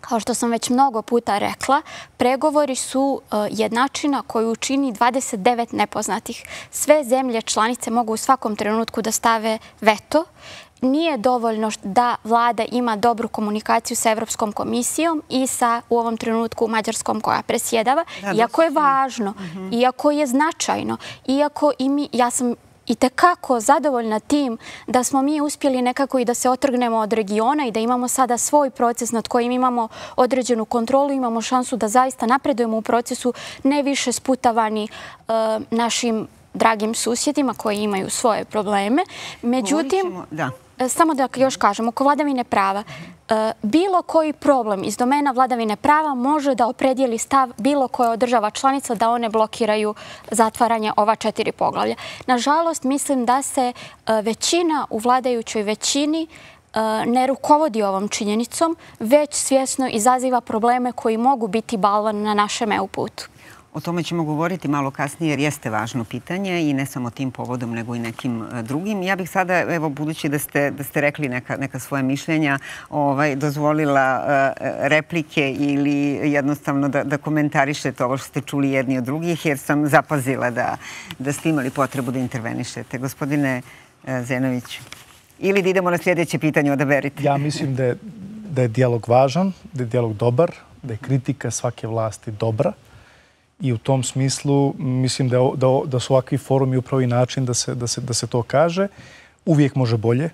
kao što sam već mnogo puta rekla, pregovori su jednačina koju čini dvadeset devet nepoznatih. Sve zemlje članice mogu u svakom trenutku da stave veto. Nije dovoljno da vlada ima dobru komunikaciju sa Evropskom komisijom i sa u ovom trenutku Mađarskom koja presjedava. Iako je važno, iako je značajno, iako i mi, ja sam i tekako zadovoljna tim da smo mi uspjeli nekako i da se otrgnemo od regiona i da imamo sada svoj proces nad kojim imamo određenu kontrolu, imamo šansu da zaista napredujemo u procesu ne više sputavani našim dragim susjedima koji imaju svoje probleme. Međutim, samo da još kažem, oko vladavine prava, bilo koji problem iz domena vladavine prava može da opredijeli stav bilo koje od država članica da one blokiraju zatvaranje ova četiri poglavlja. Nažalost, mislim da se većina u vladajućoj većini ne rukovodi ovom činjenicom, već svjesno izaziva probleme koji mogu biti balvan na našem E U putu. O tome ćemo govoriti malo kasnije jer jeste važno pitanje i ne samo tim povodom nego i nekim drugim. Ja bih sada, evo, budući da ste, da ste rekli neka, neka svoje mišljenja, ovaj, dozvolila uh, replike ili jednostavno da, da komentarišete ovo što ste čuli jedni od drugih jer sam zapazila da, da ste imali potrebu da intervenišete. Gospodine uh, Zenović, ili da idemo na sljedeće pitanje, odaberite. Ja mislim da je, da je dijalog važan, da je dijalog dobar, da je kritika svake vlasti dobra. I u tom smislu mislim da, da, da su ovakvi forumi upravo i način da se, da se, da se to kaže. Uvijek može bolje,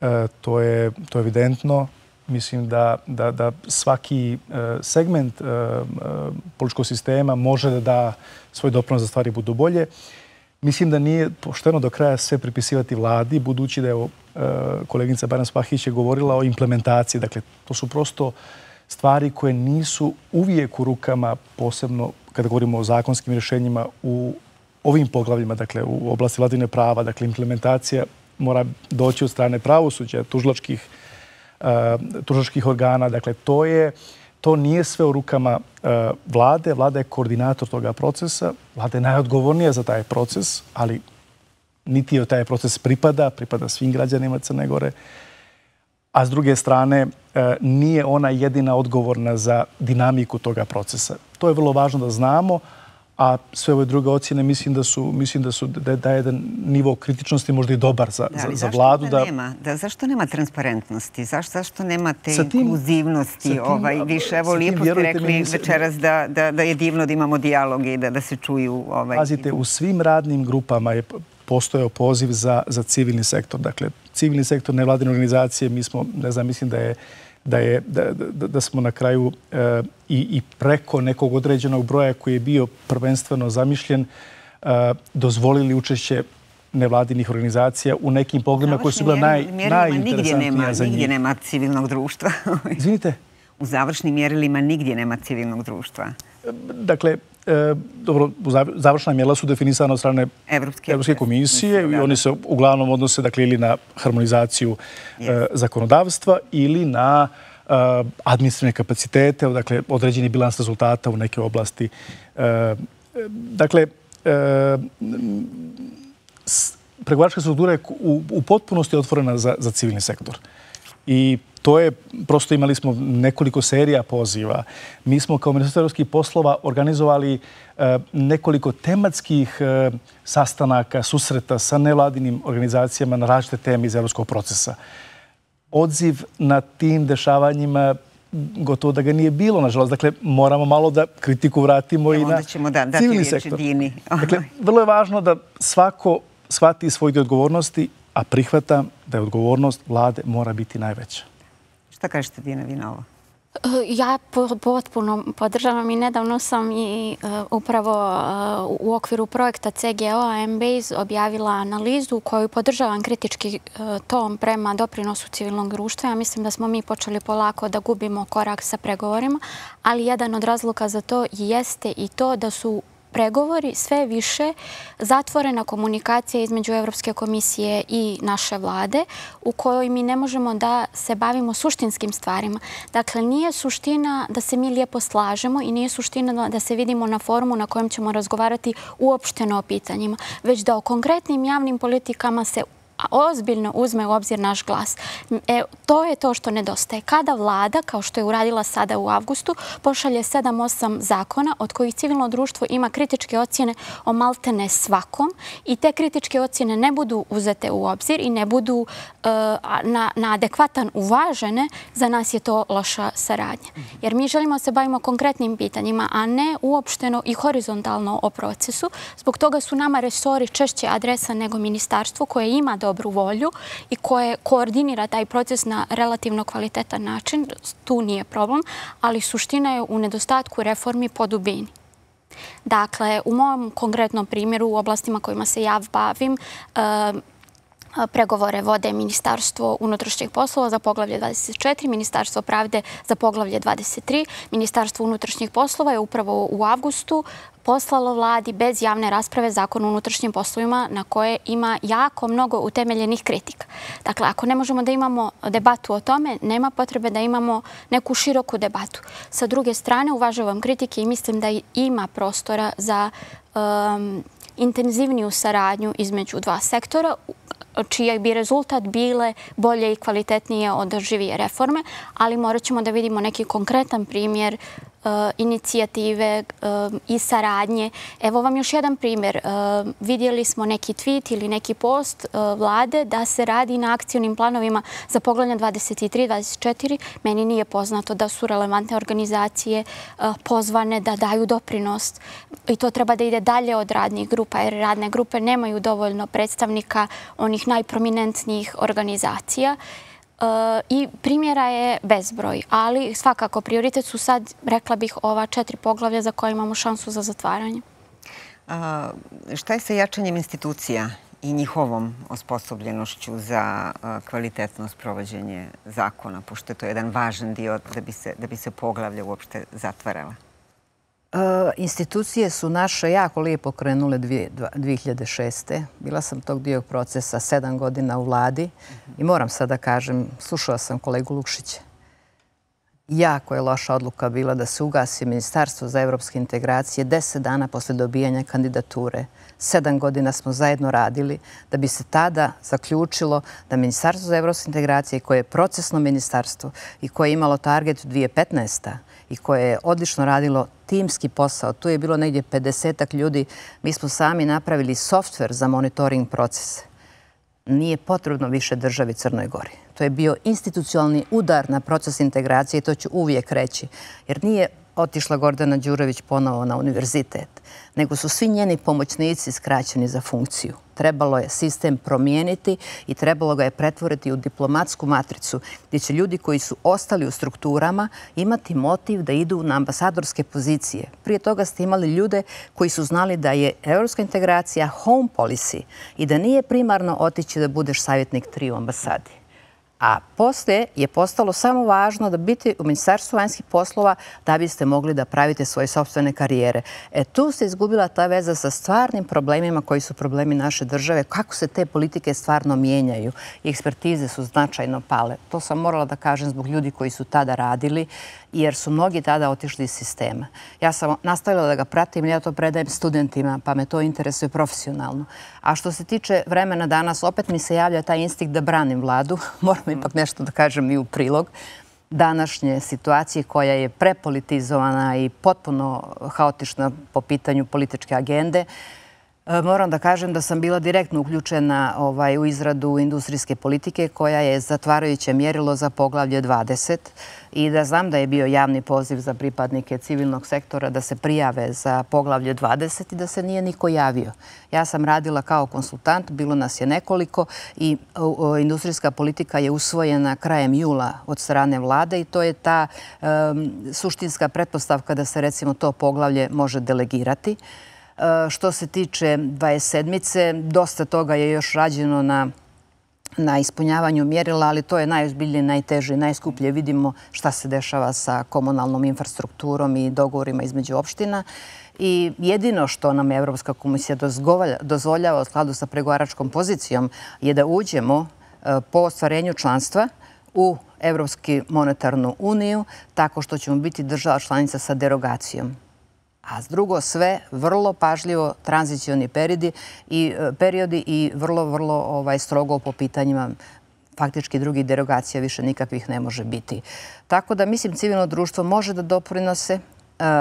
e, to, je, to je evidentno. Mislim da, da, da svaki e, segment e, e, političkog sistema može da da svoj doprinos da stvari budu bolje. Mislim da nije pošteno do kraja sve pripisivati vladi, budući da je e, koleginica Bajram Spahić je govorila o implementaciji. Dakle, to su prosto stvari koje nisu uvijek u rukama, posebno kada govorimo o zakonskim rješenjima u ovim poglavljima, dakle u oblasti vladavine prava, dakle implementacija mora doći od strane pravosuđa, tužilačkih, uh, tužilačkih organa. Dakle, to je To nije sve u rukama uh, vlade. Vlada je koordinator toga procesa. Vlada je najodgovornija za taj proces, ali niti joj taj proces pripada, pripada svim građanima Crne Gore. A s druge strane, uh, nije ona jedina odgovorna za dinamiku toga procesa. To je vrlo važno da znamo, a sve ove druge ocjene mislim da su, mislim da su da, da je jedan nivo kritičnosti možda i dobar za, da, za, za vladu. Da, nema, da, zašto nema transparentnosti? Zašto, zašto nema te tim, inkluzivnosti? Tim, ovaj, više, evo, lijepo ste rekli mi, večeras da, da, da je divno da imamo dijalog i da, da se čuju. Ovaj, Pazite, u svim radnim grupama je postojao poziv za, za civilni sektor. Dakle, civilni sektor, nevladine organizacije, mi smo, ne znam, mislim da je da, je, da, da, da smo na kraju e, i, i preko nekog određenog broja koji je bio prvenstveno zamišljen e, dozvolili učešće nevladinih organizacija u nekim pogledima koji su bila naj, najinteresantnija za njih. Nigdje nema civilnog društva. Izvinite? U završnim mjerilima nigdje nema civilnog društva. Dakle, E, dobro, završna mjerila su definisana od strane Evropske, Evropske komisije i oni se uglavnom odnose dakle, ili na harmonizaciju yes. e, zakonodavstva ili na e, administrativne kapacitete, dakle, određeni bilans rezultata u neke oblasti. E, dakle, e, pregovaračka struktura je u, u potpunosti otvorena za, za civilni sektor. I to je, prosto imali smo nekoliko serija poziva. Mi smo kao Ministarstvo evropskih poslova organizovali e, nekoliko tematskih e, sastanaka, susreta sa nevladinim organizacijama na različite teme iz evropskog procesa. Odziv na tim dešavanjima gotovo da ga nije bilo, nažalost. Dakle, moramo malo da kritiku vratimo Evo, i na ćemo da, civilni sektor. Dakle, vrlo je važno da svako shvati svoj dio odgovornosti, a prihvata da je odgovornost vlade mora biti najveća. Šta kažete, Dina, vi na ovo? Ja potpuno podržavam i nedavno sam i upravo u okviru projekta C G O-a M-Base objavila analizu koju podržavam kritički tom prema doprinosu civilnog društva. Ja mislim da smo mi počeli polako da gubimo korak sa pregovorima, ali jedan od razloga za to jeste i to da su pregovori sve više zatvorena komunikacija između Evropske komisije i naše vlade u kojoj mi ne možemo da se bavimo suštinskim stvarima. Dakle, nije suština da se mi lijepo slažemo i nije suština da se vidimo na forumu na kojem ćemo razgovarati uopšteno o pitanjima, već da o konkretnim javnim politikama se ozbiljno uzme u obzir naš glas. E, to je to što nedostaje. Kada vlada, kao što je uradila sada u avgustu, pošalje sedam osam zakona od kojih civilno društvo ima kritičke ocjene o maltene svakom i te kritičke ocjene ne budu uzete u obzir i ne budu uh, na, na adekvatan uvažene, za nas je to loša saradnja. Jer mi želimo se bavimo konkretnim pitanjima, a ne uopšteno i horizontalno o procesu. Zbog toga su nama resori češće adresa nego ministarstvo koje ima do dobru volju i koje koordinira taj proces na relativno kvalitetan način. Tu nije problem, ali suština je u nedostatku reformi po dubini. Dakle, u mom konkretnom primjeru u oblastima kojima se ja bavim, pregovore vode Ministarstvo unutrašnjih poslova za poglavlje dvadeset četiri, Ministarstvo pravde za poglavlje dvadeset tri. Ministarstvo unutrašnjih poslova je upravo u avgustu poslalo vladi bez javne rasprave Zakon o unutrašnjim poslovima na koje ima jako mnogo utemeljenih kritika. Dakle, ako ne možemo da imamo debatu o tome, nema potrebe da imamo neku široku debatu. Sa druge strane, uvažavam kritike i mislim da ima prostora za um, intenzivniju saradnju između dva sektora, čiji bi rezultat bile bolje i kvalitetnije održivije reforme, ali morat ćemo da vidimo neki konkretan primjer inicijative i saradnje. Evo vam još jedan primjer. Vidjeli smo neki tweet ili neki post vlade da se radi na akcijnim planovima za poglavlje dvadeset tri dvadeset četiri. Meni nije poznato da su relevantne organizacije pozvane da daju doprinos i to treba da ide dalje od radnih grupa, jer radne grupe nemaju dovoljno predstavnika onih najprominentnijih organizacija. I primjera je bezbroj, ali svakako prioritet su sad, rekla bih, ova četiri poglavlja za koje imamo šansu za zatvaranje. A, šta je sa jačanjem institucija i njihovom osposobljenošću za kvalitetno sprovođenje zakona, pošto je to jedan važan dio da bi se poglavlja uopšte zatvarala? Institucije su naše jako lijepo krenule dvije hiljade šeste. Bila sam tog dio procesa sedam godina u vladi i moram sad da kažem, slušala sam kolegu Lukšića. Jako je loša odluka bila da se ugasi Ministarstvo za evropske integracije deset dana posle dobijanja kandidature. Sedam godina smo zajedno radili da bi se tada zaključilo da Ministarstvo za evropske integracije, koje je procesno ministarstvo i koje je imalo target dvije hiljade petnaeste. i koje je odlično radilo timski posao. Tu je bilo negdje pedesetak ljudi. Mi smo sami napravili softver za monitoring procese. Nije potrebno više državi Crnoj Gori. To je bio institucionalni udar na proces integracije i to ću uvijek reći. Jer nije otišla Gordana Đurović ponovo na univerzitet, nego su svi njeni pomoćnici skraćeni za funkciju. Trebalo je sistem promijeniti i trebalo ga je pretvoriti u diplomatsku matricu gdje će ljudi koji su ostali u strukturama imati motiv da idu na ambasadorske pozicije. Prije toga ste imali ljude koji su znali da je evropska integracija home policy i da nije primarno otići da budeš savjetnik tri u ambasadi. A poslije je postalo samo važno da biti u Ministarstvu vanjskih poslova da biste mogli da pravite svoje sopstvene karijere. E tu se izgubila ta veza sa stvarnim problemima koji su problemi naše države, kako se te politike stvarno mijenjaju i ekspertize su značajno pale. To sam morala da kažem zbog ljudi koji su tada radili, jer su mnogi tada otišli iz sistema. Ja sam nastavila da ga pratim, ja to predajem studentima, pa me to interesuje profesionalno. A što se tiče vremena danas, opet mi se javlja taj instinkt da branim vladu. Moram ipak nešto da kažem i u prilog današnje situacije koja je prepolitizovana i potpuno haotična po pitanju političke agende. Moram da kažem da sam bila direktno uključena u izradu industrijske politike koja je zatvarajuće mjerilo za poglavlje dvadeset i da znam da je bio javni poziv za pripadnike civilnog sektora da se prijave za poglavlje dvadeset i da se nije niko javio. Ja sam radila kao konsultant, bilo nas je nekoliko i industrijska politika je usvojena krajem jula od strane vlade i to je ta suštinska pretpostavka da se recimo to poglavlje može delegirati. Što se tiče dvadeset sedmice, dosta toga je još rađeno na, na ispunjavanju mjerila, ali to je najozbiljnije, najteže i najskuplje. Vidimo šta se dešava sa komunalnom infrastrukturom i dogovorima između opština. I jedino što nam Evropska komisija dozvoljava u skladu sa pregovaračkom pozicijom je da uđemo po ostvarenju članstva u Evropsku monetarnu uniju tako što ćemo biti država članica sa derogacijom. A s drugo sve vrlo pažljivo tranzicioni periodi i, periodi i vrlo, vrlo strogo po pitanjima faktički drugih derogacija više nikakvih ne može biti. Tako da mislim civilno društvo može da doprinose,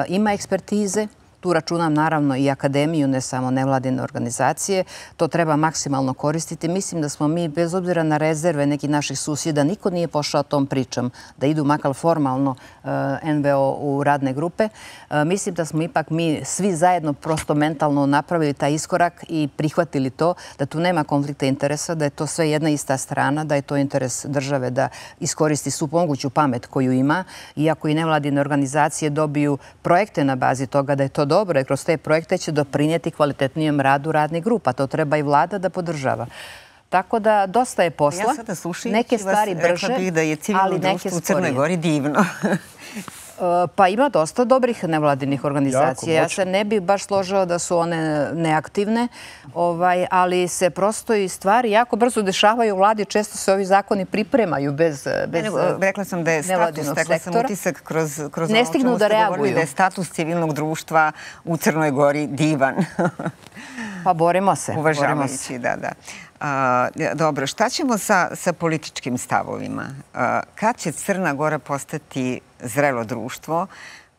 ima ekspertize, tu računam naravno i akademiju, ne samo nevladine organizacije. To treba maksimalno koristiti. Mislim da smo mi, bez obzira na rezerve nekih naših susjeda, niko nije pošao tom pričom da idu makar formalno en ve o u radne grupe. Mislim da smo ipak mi svi zajedno prosto mentalno napravili taj iskorak i prihvatili to, da tu nema konflikta interesa, da je to sve jedna ista strana, da je to interes države da iskoristi svu moguću pamet koju ima. Iako i nevladine organizacije dobiju projekte na bazi toga da je to dobro, jer kroz te projekte će doprinijeti kvalitetnijem radu radnih grupa. To treba i vlada da podržava. Tako da dosta je posla. Ja sada slušajući neke stvari vas brže, rekla bih da je civilno društvo u Crnoj Gori divno. Pa ima dosta dobrih nevladinih organizacija. Ja se ne bih baš složila da su one neaktivne, ali se prosto i stvari jako brzo dešavaju u vladi. Često se ovi zakoni pripremaju bez nevladinog sektora. Rekla sam da je status, rekla sam utisak kroz ovo čemu ste govorili, da je status civilnog društva u Crnoj Gori divan. Pa borimo se. Uvažavajući, da, da. Dobro, šta ćemo sa političkim stavovima? Kad će Crna Gora postati zrelo društvo,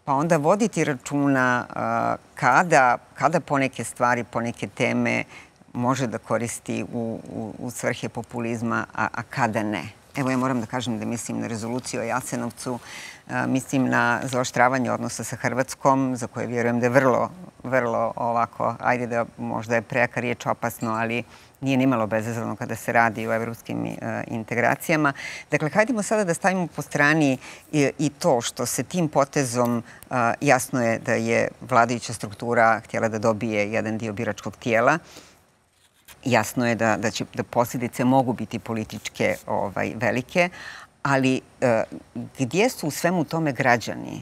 pa onda voditi računa kada poneke stvari, poneke teme može da koristi u svrhe populizma, a kada ne? Evo, ja moram da kažem da mislim na rezoluciju o Jasenovcu, mislim na zaoštravanje odnosa sa Hrvatskom, za koje vjerujem da je vrlo, vrlo ovako, ajde da možda je prejaka riječ, opasno, ali nije nimalo bezazleno kada se radi o evropskim integracijama. Dakle, hajdemo sada da stavimo po strani i to što se tim potezom jasno je da je vladajuća struktura htjela da dobije jedan dio biračkog tijela. jasno je da, da, će, da posljedice mogu biti političke ovaj, velike, ali e, gdje su u svemu tome građani?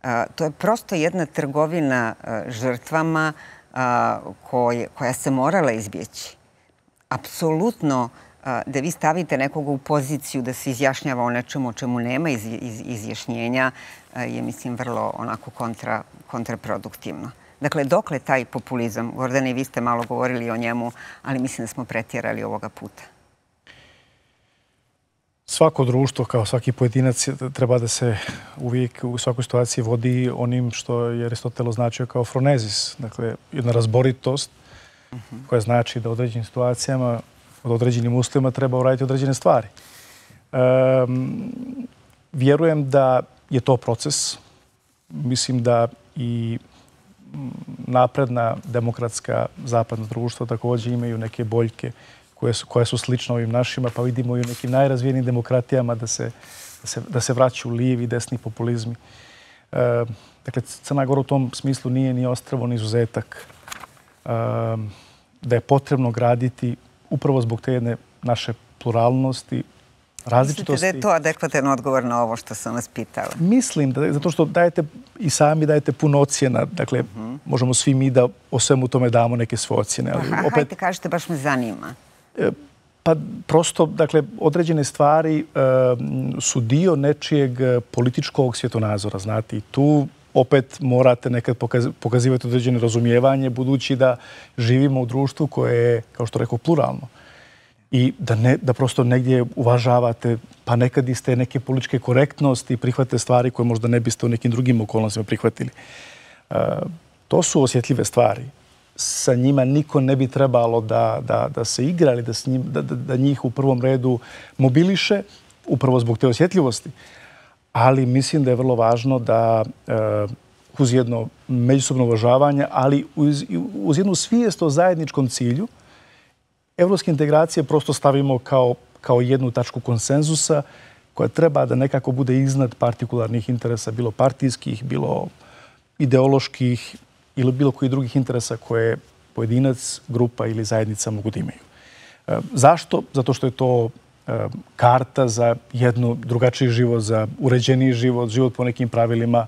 E, to je prosto jedna trgovina e, žrtvama e, koje, koja se morala izbjeći. Apsolutno e, da vi stavite nekoga u poziciju da se izjašnjava o nečemu o čemu nema iz, iz, izjašnjenja e, je, mislim, vrlo onako kontra, kontraproduktivno. Dakle, dokle taj populizam? Gordane, i vi ste malo govorili o njemu, ali mislim da smo pretjerali ovoga puta. Svako društvo, kao svaki pojedinac, treba da se uvijek u svakoj situaciji vodi onim što je Aristotel označio kao fronezis. Dakle, jedna razboritost koja znači da u određenim situacijama, od određenim uslovima treba uraditi određene stvari. Um, vjerujem da je to proces. Mislim da i napredna, demokratska, zapadna društva također imaju neke boljke koje su, koje su slične ovim našima, pa vidimo i u nekim najrazvijenim demokratijama da se, da se, da se vraćaju lijevi i desni populizmi. E, dakle, Crna Gora u tom smislu nije ni ostrvo, ni izuzetak. E, da je potrebno graditi upravo zbog te jedne naše pluralnosti, različitosti. Mislite da je to adekvatan odgovor na ovo što sam vas pitala? Mislim, da, zato što dajete i sami dajete puno ocjena. Dakle, uh-huh. možemo svi mi da o svemu tome damo neke svoje ocjene. Ali Aha, opet, hajte, kažete, baš me zanima. Pa prosto, dakle, određene stvari e, su dio nečijeg političkog svjetonazora, znate. I tu opet morate nekad pokaz, pokazivati određene razumijevanje, budući da živimo u društvu koje je, kao što rekao, pluralno. I da, ne, da prosto negdje uvažavate, pa nekad iste neke političke korektnosti, prihvate stvari koje možda ne biste u nekim drugim okolnostima prihvatili. E, to su osjetljive stvari. Sa njima niko ne bi trebalo da, da, da se igra ili da, s njim, da, da, da njih u prvom redu mobiliše, upravo zbog te osjetljivosti. Ali mislim da je vrlo važno da e, uz jedno međusobno uvažavanje, ali uz, uz jednu svijest o zajedničkom cilju, evropske integracije prosto stavimo kao, kao jednu tačku konsenzusa koja treba da nekako bude iznad partikularnih interesa, bilo partijskih, bilo ideoloških ili bilo koji drugih interesa koje pojedinac, grupa ili zajednica mogu da imaju. E, zašto? Zato što je to e, karta za jednu drugačiji život, za uređeniji život, život po nekim pravilima,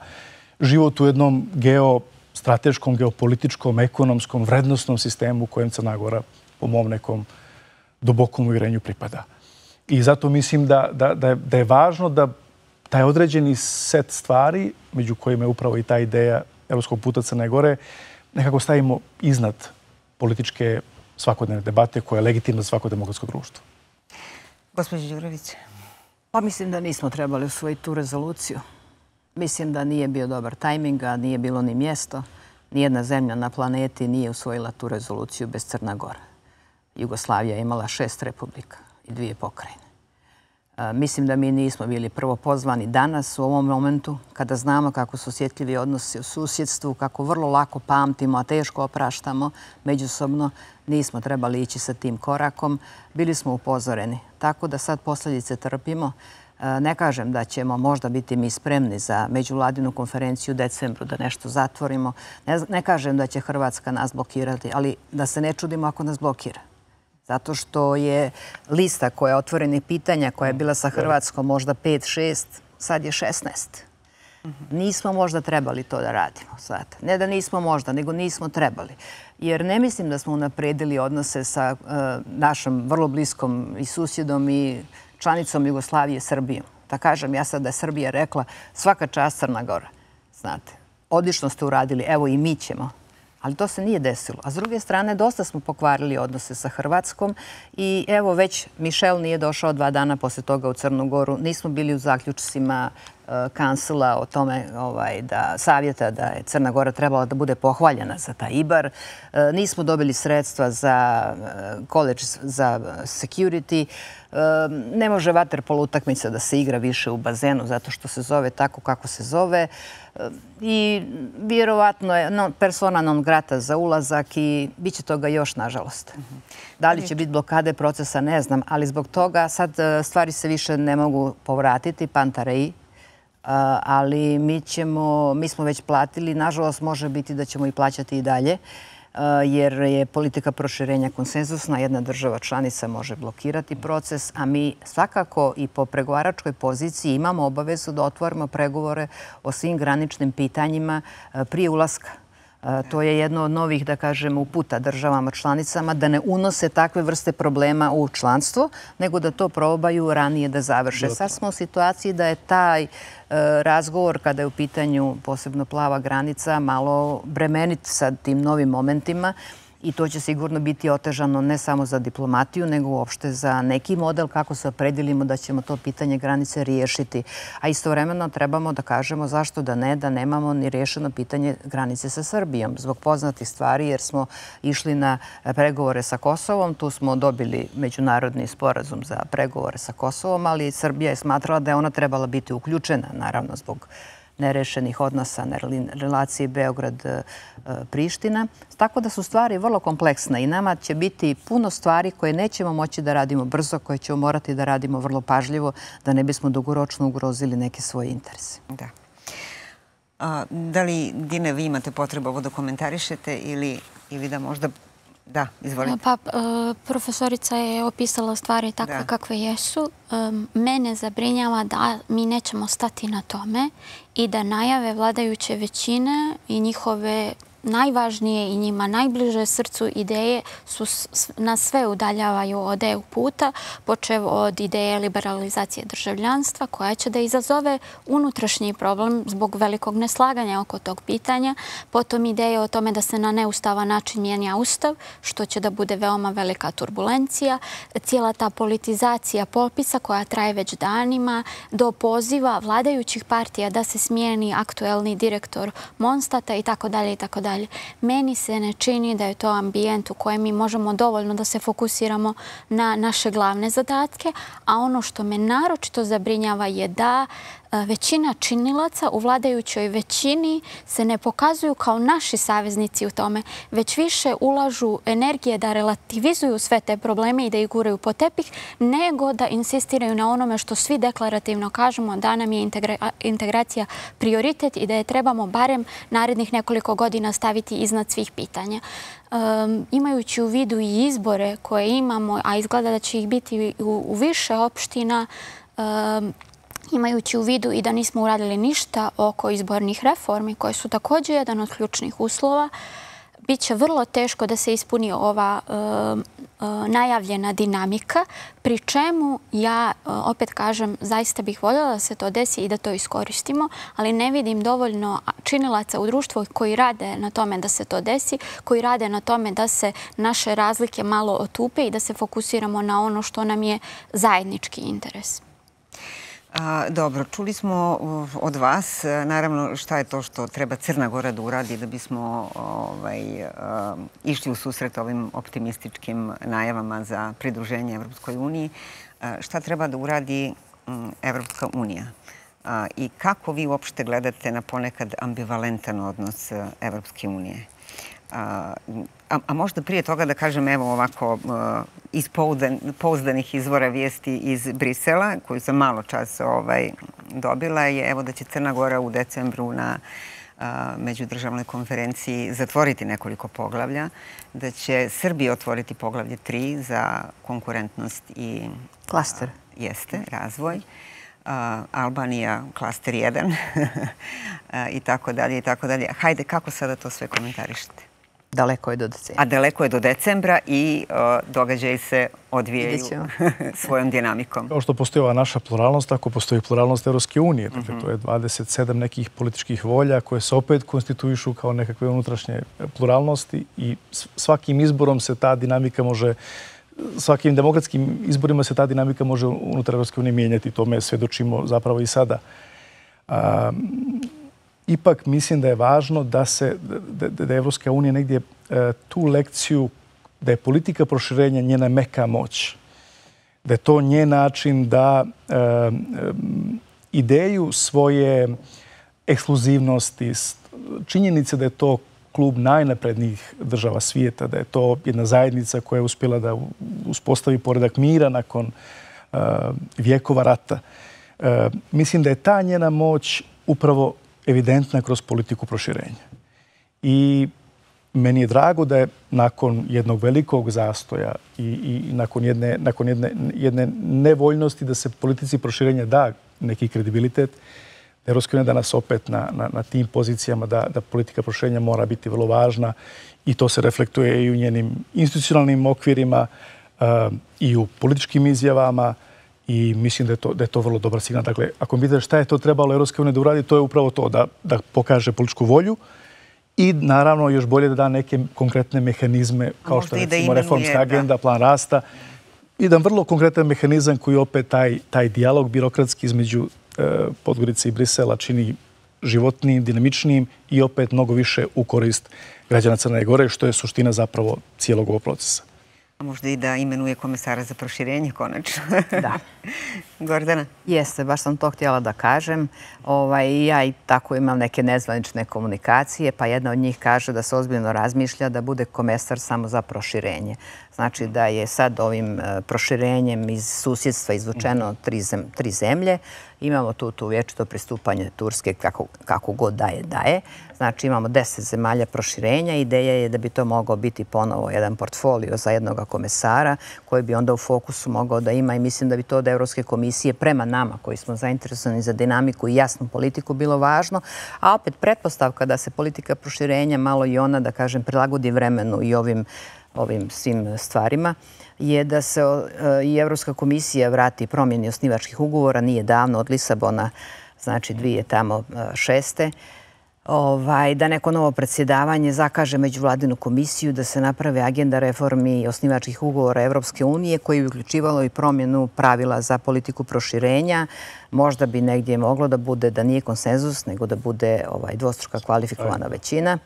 život u jednom geostrateškom, geopolitičkom, ekonomskom, vrednostnom sistemu kojem Crna Gora po mom nekom dubokom uvjerenju pripada. I zato mislim da, da, da, je, da je važno da taj određeni set stvari, među kojima je upravo i ta ideja evropskog puta Crne Gore, nekako stavimo iznad političke svakodnevne debate koja je legitimna za svako demokratsko društvo. Gospođo Đurović. Pa mislim da nismo trebali usvojiti tu rezoluciju. Mislim da nije bio dobar tajming, a nije bilo ni mjesto. Nijedna zemlja na planeti nije usvojila tu rezoluciju bez Crna Gora. Jugoslavija je imala šest republika i dvije pokrajine. Mislim da mi nismo bili prvo pozvani danas u ovom momentu, kada znamo kako su osjetljivi odnosi u susjedstvu, kako vrlo lako pamtimo, a teško opraštamo međusobno. Nismo trebali ići sa tim korakom. Bili smo upozoreni. Tako da sad posljedice trpimo. Ne kažem da ćemo možda biti mi spremni za međuvladinu konferenciju u decembru da nešto zatvorimo. Ne, ne kažem da će Hrvatska nas blokirati, ali da se ne čudimo ako nas blokira. Zato što je lista koja je otvorenih pitanja, koja je bila sa Hrvatskom možda pet šest, sad je šesnaest. Nismo možda trebali to da radimo. Sad. Ne da nismo možda, nego nismo trebali. Jer ne mislim da smo unapredili odnose sa uh, našom vrlo bliskom i susjedom i članicom Jugoslavije, Srbijom. Da kažem, ja sad da je Srbija rekla svaka čast Crna Gora. Znate, odlično ste uradili, evo i mi ćemo. Ali to se nije desilo. A s druge strane, dosta smo pokvarili odnose sa Hrvatskom i evo već Mišel nije došao dva dana posle toga u Crnu Goru. Nismo bili u zaključcima uh, kancela o tome ovaj, da savjeta da je Crna Gora trebala da bude pohvaljena za taj Ibar. Uh, nismo dobili sredstva za uh, college za security. Uh, ne može vaterpolo utakmica da se igra više u bazenu zato što se zove tako kako se zove. I vjerovatno je no, persona non grata za ulazak i bit će toga još, nažalost. Da li će biti blokade procesa, ne znam, ali zbog toga sad stvari se više ne mogu povratiti, pantareji, ali mi, ćemo, mi smo već platili, nažalost može biti da ćemo i plaćati i dalje. jer je politika proširenja konsenzusna. Jedna država članica može blokirati proces, a mi svakako i po pregovaračkoj poziciji imamo obavezu da otvorimo pregovore o svim graničnim pitanjima prije ulaska. To je jedno od novih, da kažem, uputa državama članicama da ne unose takve vrste problema u članstvo, nego da to probaju ranije da završe. Sad smo u situaciji da je taj razgovor, kada je u pitanju posebno plava granica, malo bremenit sa tim novim momentima i to će sigurno biti otežano ne samo za diplomatiju, nego uopšte za neki model kako se opredelimo da ćemo to pitanje granice riješiti. A istovremeno trebamo da kažemo zašto da ne, da nemamo ni riješeno pitanje granice sa Srbijom. Zbog poznatih stvari, jer smo išli na pregovore sa Kosovom, tu smo dobili međunarodni sporazum za pregovore sa Kosovom, ali Srbija je smatrala da je ona trebala biti uključena, naravno zbog nerešenih odnosa na relaciji Beograd-Priština. Tako da su stvari vrlo kompleksne i nama će biti puno stvari koje nećemo moći da radimo brzo, koje ćemo morati da radimo vrlo pažljivo, da ne bismo dugoročno ugrozili neke svoje interese. Da. Da li, Dine, vi imate potrebu ovo da komentarišete ili da možda... Da, izvolite. Pa, profesorica je opisala stvari takve kakve jesu. Mene zabrinjava da mi nećemo stati na tome i da najave vladajuće većine i njihove najvažnije i njima najbliže srcu ideje su nas sve udaljavaju od E U puta, počev od ideje liberalizacije državljanstva koja će da izazove unutrašnji problem zbog velikog neslaganja oko tog pitanja, potom ideje o tome da se na neustavan način mijenja ustav, što će da bude veoma velika turbulencija, cijela ta politizacija popisa koja traje već danima, do poziva vladajućih partija da se smijeni aktuelni direktor Monstata i tako dalje i tako dalje. Meni se ne čini da je to ambijent u kojem mi možemo dovoljno da se fokusiramo na naše glavne zadatke, a ono što me naročito zabrinjava je da većina činilaca u vladajućoj većini se ne pokazuju kao naši saveznici u tome, već više ulažu energije da relativizuju sve te probleme i da ih guraju po tepih, nego da insistiraju na onome što svi deklarativno kažemo da nam je integracija prioritet i da je trebamo barem narednih nekoliko godina staviti iznad svih pitanja. Imajući u vidu i izbore koje imamo, a izgleda da će ih biti u više opština, imajući u vidu i da nismo uradili ništa oko izbornih reformi, koje su također jedan od ključnih uslova, bit će vrlo teško da se ispuni ova najavljena dinamika, pri čemu ja, opet kažem, zaista bih voljela da se to desi i da to iskoristimo, ali ne vidim dovoljno činilaca u društvu koji rade na tome da se to desi, koji rade na tome da se naše razlike malo otupe i da se fokusiramo na ono što nam je zajednički interes. Dobro, čuli smo od vas, naravno, šta je to što treba Crna Gora da uradi da bismo išli u susret ovim optimističkim najavama za pridruženje Evropskoj uniji. Šta treba da uradi Evropska unija? I kako vi uopšte gledate na ponekad ambivalentan odnos Evropske unije? A možda prije toga da kažem, evo ovako, iz pouzdanih izvora vijesti iz Brisela, koju sam malo čas dobila, je evo da će Crna Gora u decembru na međudržavnoj konferenciji zatvoriti nekoliko poglavlja, da će Srbija otvoriti poglavlje tri za konkurentnost i... Klaster. Jeste, razvoj. Albanija klaster jedan i tako dalje i tako dalje. Hajde, kako sada to sve komentarišete? Daleko je do decembra. A daleko je do decembra i događaji se odvijaju svojom dinamikom. Kao što postoji ova naša pluralnost, tako postoji pluralnost Evropske unije. Dakle, to je dvadeset sedam nekih političkih volja koje se opet konstituišu kao nekakve unutrašnje pluralnosti i svakim izborom se ta dinamika može, svakim demokratskim izborima se ta dinamika može unutar Evropske unije mijenjati. Tome svedočimo zapravo i sada. Ipak mislim da je važno da se, da je Evropska unija negdje tu lekciju, da je politika proširenja njena meka moć. Da je to njen način da ideju svoje ekskluzivnosti, činjenice da je to klub najnaprednijih država svijeta, da je to jedna zajednica koja je uspjela da uspostavi poredak mira nakon vjekova rata. Mislim da je ta njena moć upravo evidentna kroz politiku proširenja. I meni je drago da je nakon jednog velikog zastoja i, i nakon, jedne, nakon jedne, jedne nevoljnosti da se politici proširenja da neki kredibilitet, da Evropska unija danas opet na, na, na tim pozicijama da, da politika proširenja mora biti vrlo važna i to se reflektuje i u njenim institucionalnim okvirima uh, i u političkim izjavama i mislim da je to, da je to vrlo dobar signal. Dakle, ako mi vidite šta je to trebalo Evropska unija da uradi, to je upravo to, da, da pokaže političku volju i naravno još bolje da da neke konkretne mehanizme kao što je recimo reformska agenda, plan rasta. Jedan vrlo konkretan mehanizam koji opet taj, taj dijalog birokratski između e, Podgorice i Brisela čini životnijim, dinamičnijim i opet mnogo više u korist građana Crne Gore, što je suština zapravo cijelog ovog procesa. A možda i da imenuje komesara za proširenje, konačno. Da. Gordana? Jeste, baš sam to htjela da kažem. Ovaj, ja i tako imam neke nezvanične komunikacije, pa jedna od njih kaže da se ozbiljno razmišlja da bude komesar samo za proširenje. Znači da je sad ovim proširenjem iz susjedstva izvučeno tri, zem, tri zemlje. Imamo tu, tu vječito pristupanje Turske kako, kako god daje, daje. Znači imamo deset zemalja proširenja. Ideja je da bi to mogao biti ponovo jedan portfolio za jednog komesara koji bi onda u fokusu mogao da ima i mislim da bi to od Evropske komisije prema nama koji smo zainteresovani za dinamiku i jasnu politiku bilo važno. A opet pretpostavka da se politika proširenja malo i ona, da kažem, prilagodi vremenu i ovim ovim svim stvarima, je da se i Evropska komisija vrati promjeni osnivačkih ugovora, nije davno od Lisabona, znači dvije tamo šeste, ovaj, da neko novo predsjedavanje zakaže međuvladinu komisiju, da se naprave agenda reformi osnivačkih ugovora Evropske unije koji bi uključivalo i promjenu pravila za politiku proširenja. Možda bi negdje moglo da bude da nije konsenzus, nego da bude ovaj, dvostruka kvalifikovana većina.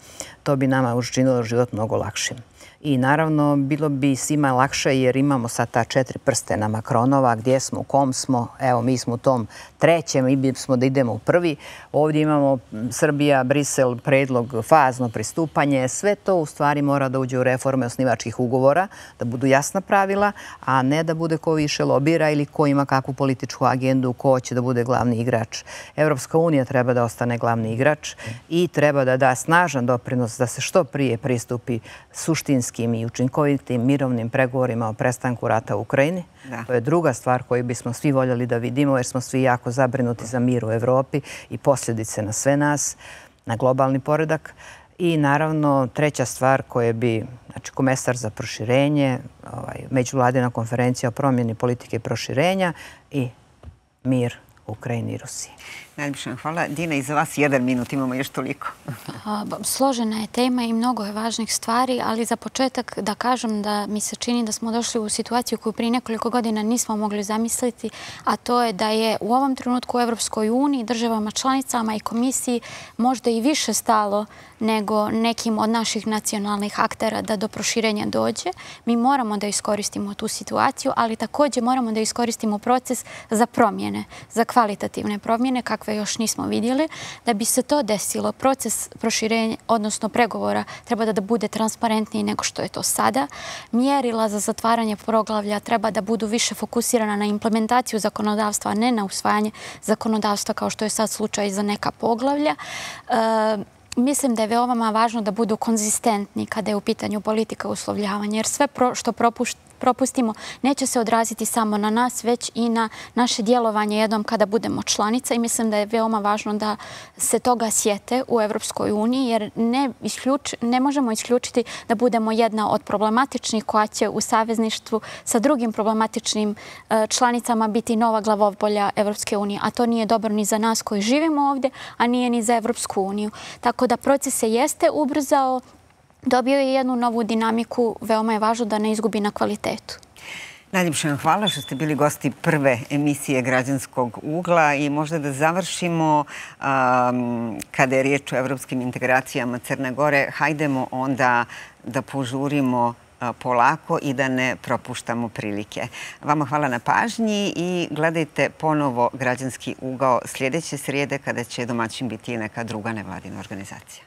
To bi nama učinilo život mnogo lakšim. I naravno, bilo bi svima lakše jer imamo sad ta četiri prstena Makronova, gdje smo, u kom smo. Evo, mi smo u tom trećem, mi bismo da idemo u prvi. Ovdje imamo Srbija, Brisel, predlog, fazno pristupanje. Sve to u stvari mora da uđe u reforme osnivačkih ugovora, da budu jasna pravila, a ne da bude ko više lobira ili ko ima kakvu političku agendu, ko će da bude glavni igrač. Evropska unija treba da ostane glavni igrač i treba da da snažan doprinos da se što prije pristupi suštinski i učinkovitim mirovnim pregovorima o prestanku rata u Ukrajini. Da. To je druga stvar koju bismo svi voljeli da vidimo jer smo svi jako zabrinuti za mir u Evropi i posljedice na sve nas, na globalni poredak. I naravno treća stvar koja bi, znači komesar za proširenje, ovaj, međuvladina konferencija o promjeni politike proširenja i mir u Ukrajini i Rusiji. Najljepša hvala. Dina, i za vas jedan minut, imamo još toliko. Složena je tema i mnogo je važnih stvari, ali za početak da kažem da mi se čini da smo došli u situaciju koju prije nekoliko godina nismo mogli zamisliti, a to je da je u ovom trenutku u Evropskoj uniji, državama članicama i komisiji možda i više stalo nego nekim od naših nacionalnih aktera da do proširenja dođe. Mi moramo da iskoristimo tu situaciju, ali također moramo da iskoristimo proces za promjene, za kvalitativne promjene, kakve još nismo vidjeli. Da bi se to desilo, proces proširenja, odnosno pregovora, treba da bude transparentniji nego što je to sada. Mjerila za zatvaranje poglavlja treba da budu više fokusirana na implementaciju zakonodavstva, a ne na usvajanje zakonodavstva kao što je sad slučaj za neka poglavlja. E, Mislim da je veoma važno da budu konzistentni kada je u pitanju politika uslovljavanja, jer sve pro, što propušt, propustimo neće se odraziti samo na nas, već i na naše djelovanje jednom kada budemo članica i mislim da je veoma važno da se toga sjete u Evropskoj uniji, jer ne, isključ, ne možemo isključiti da budemo jedna od problematičnih koja će u savezništvu sa drugim problematičnim članicama biti nova glavobolja Evropske unije, a to nije dobro ni za nas koji živimo ovdje, a nije ni za Evropsku uniju. Tako da proces se jeste ubrzao, dobio je jednu novu dinamiku, veoma je važno da ne izgubi na kvalitetu. Najljepša vam hvala što ste bili gosti prve emisije Građanskog ugla i možda da završimo um, kada je riječ o evropskim integracijama Crne Gore, hajdemo onda da požurimo polako i da ne propuštamo prilike. Vama hvala na pažnji i gledajte ponovo Građanski ugao sljedeće srijede kada će domaćin biti neka druga nevladina organizacija.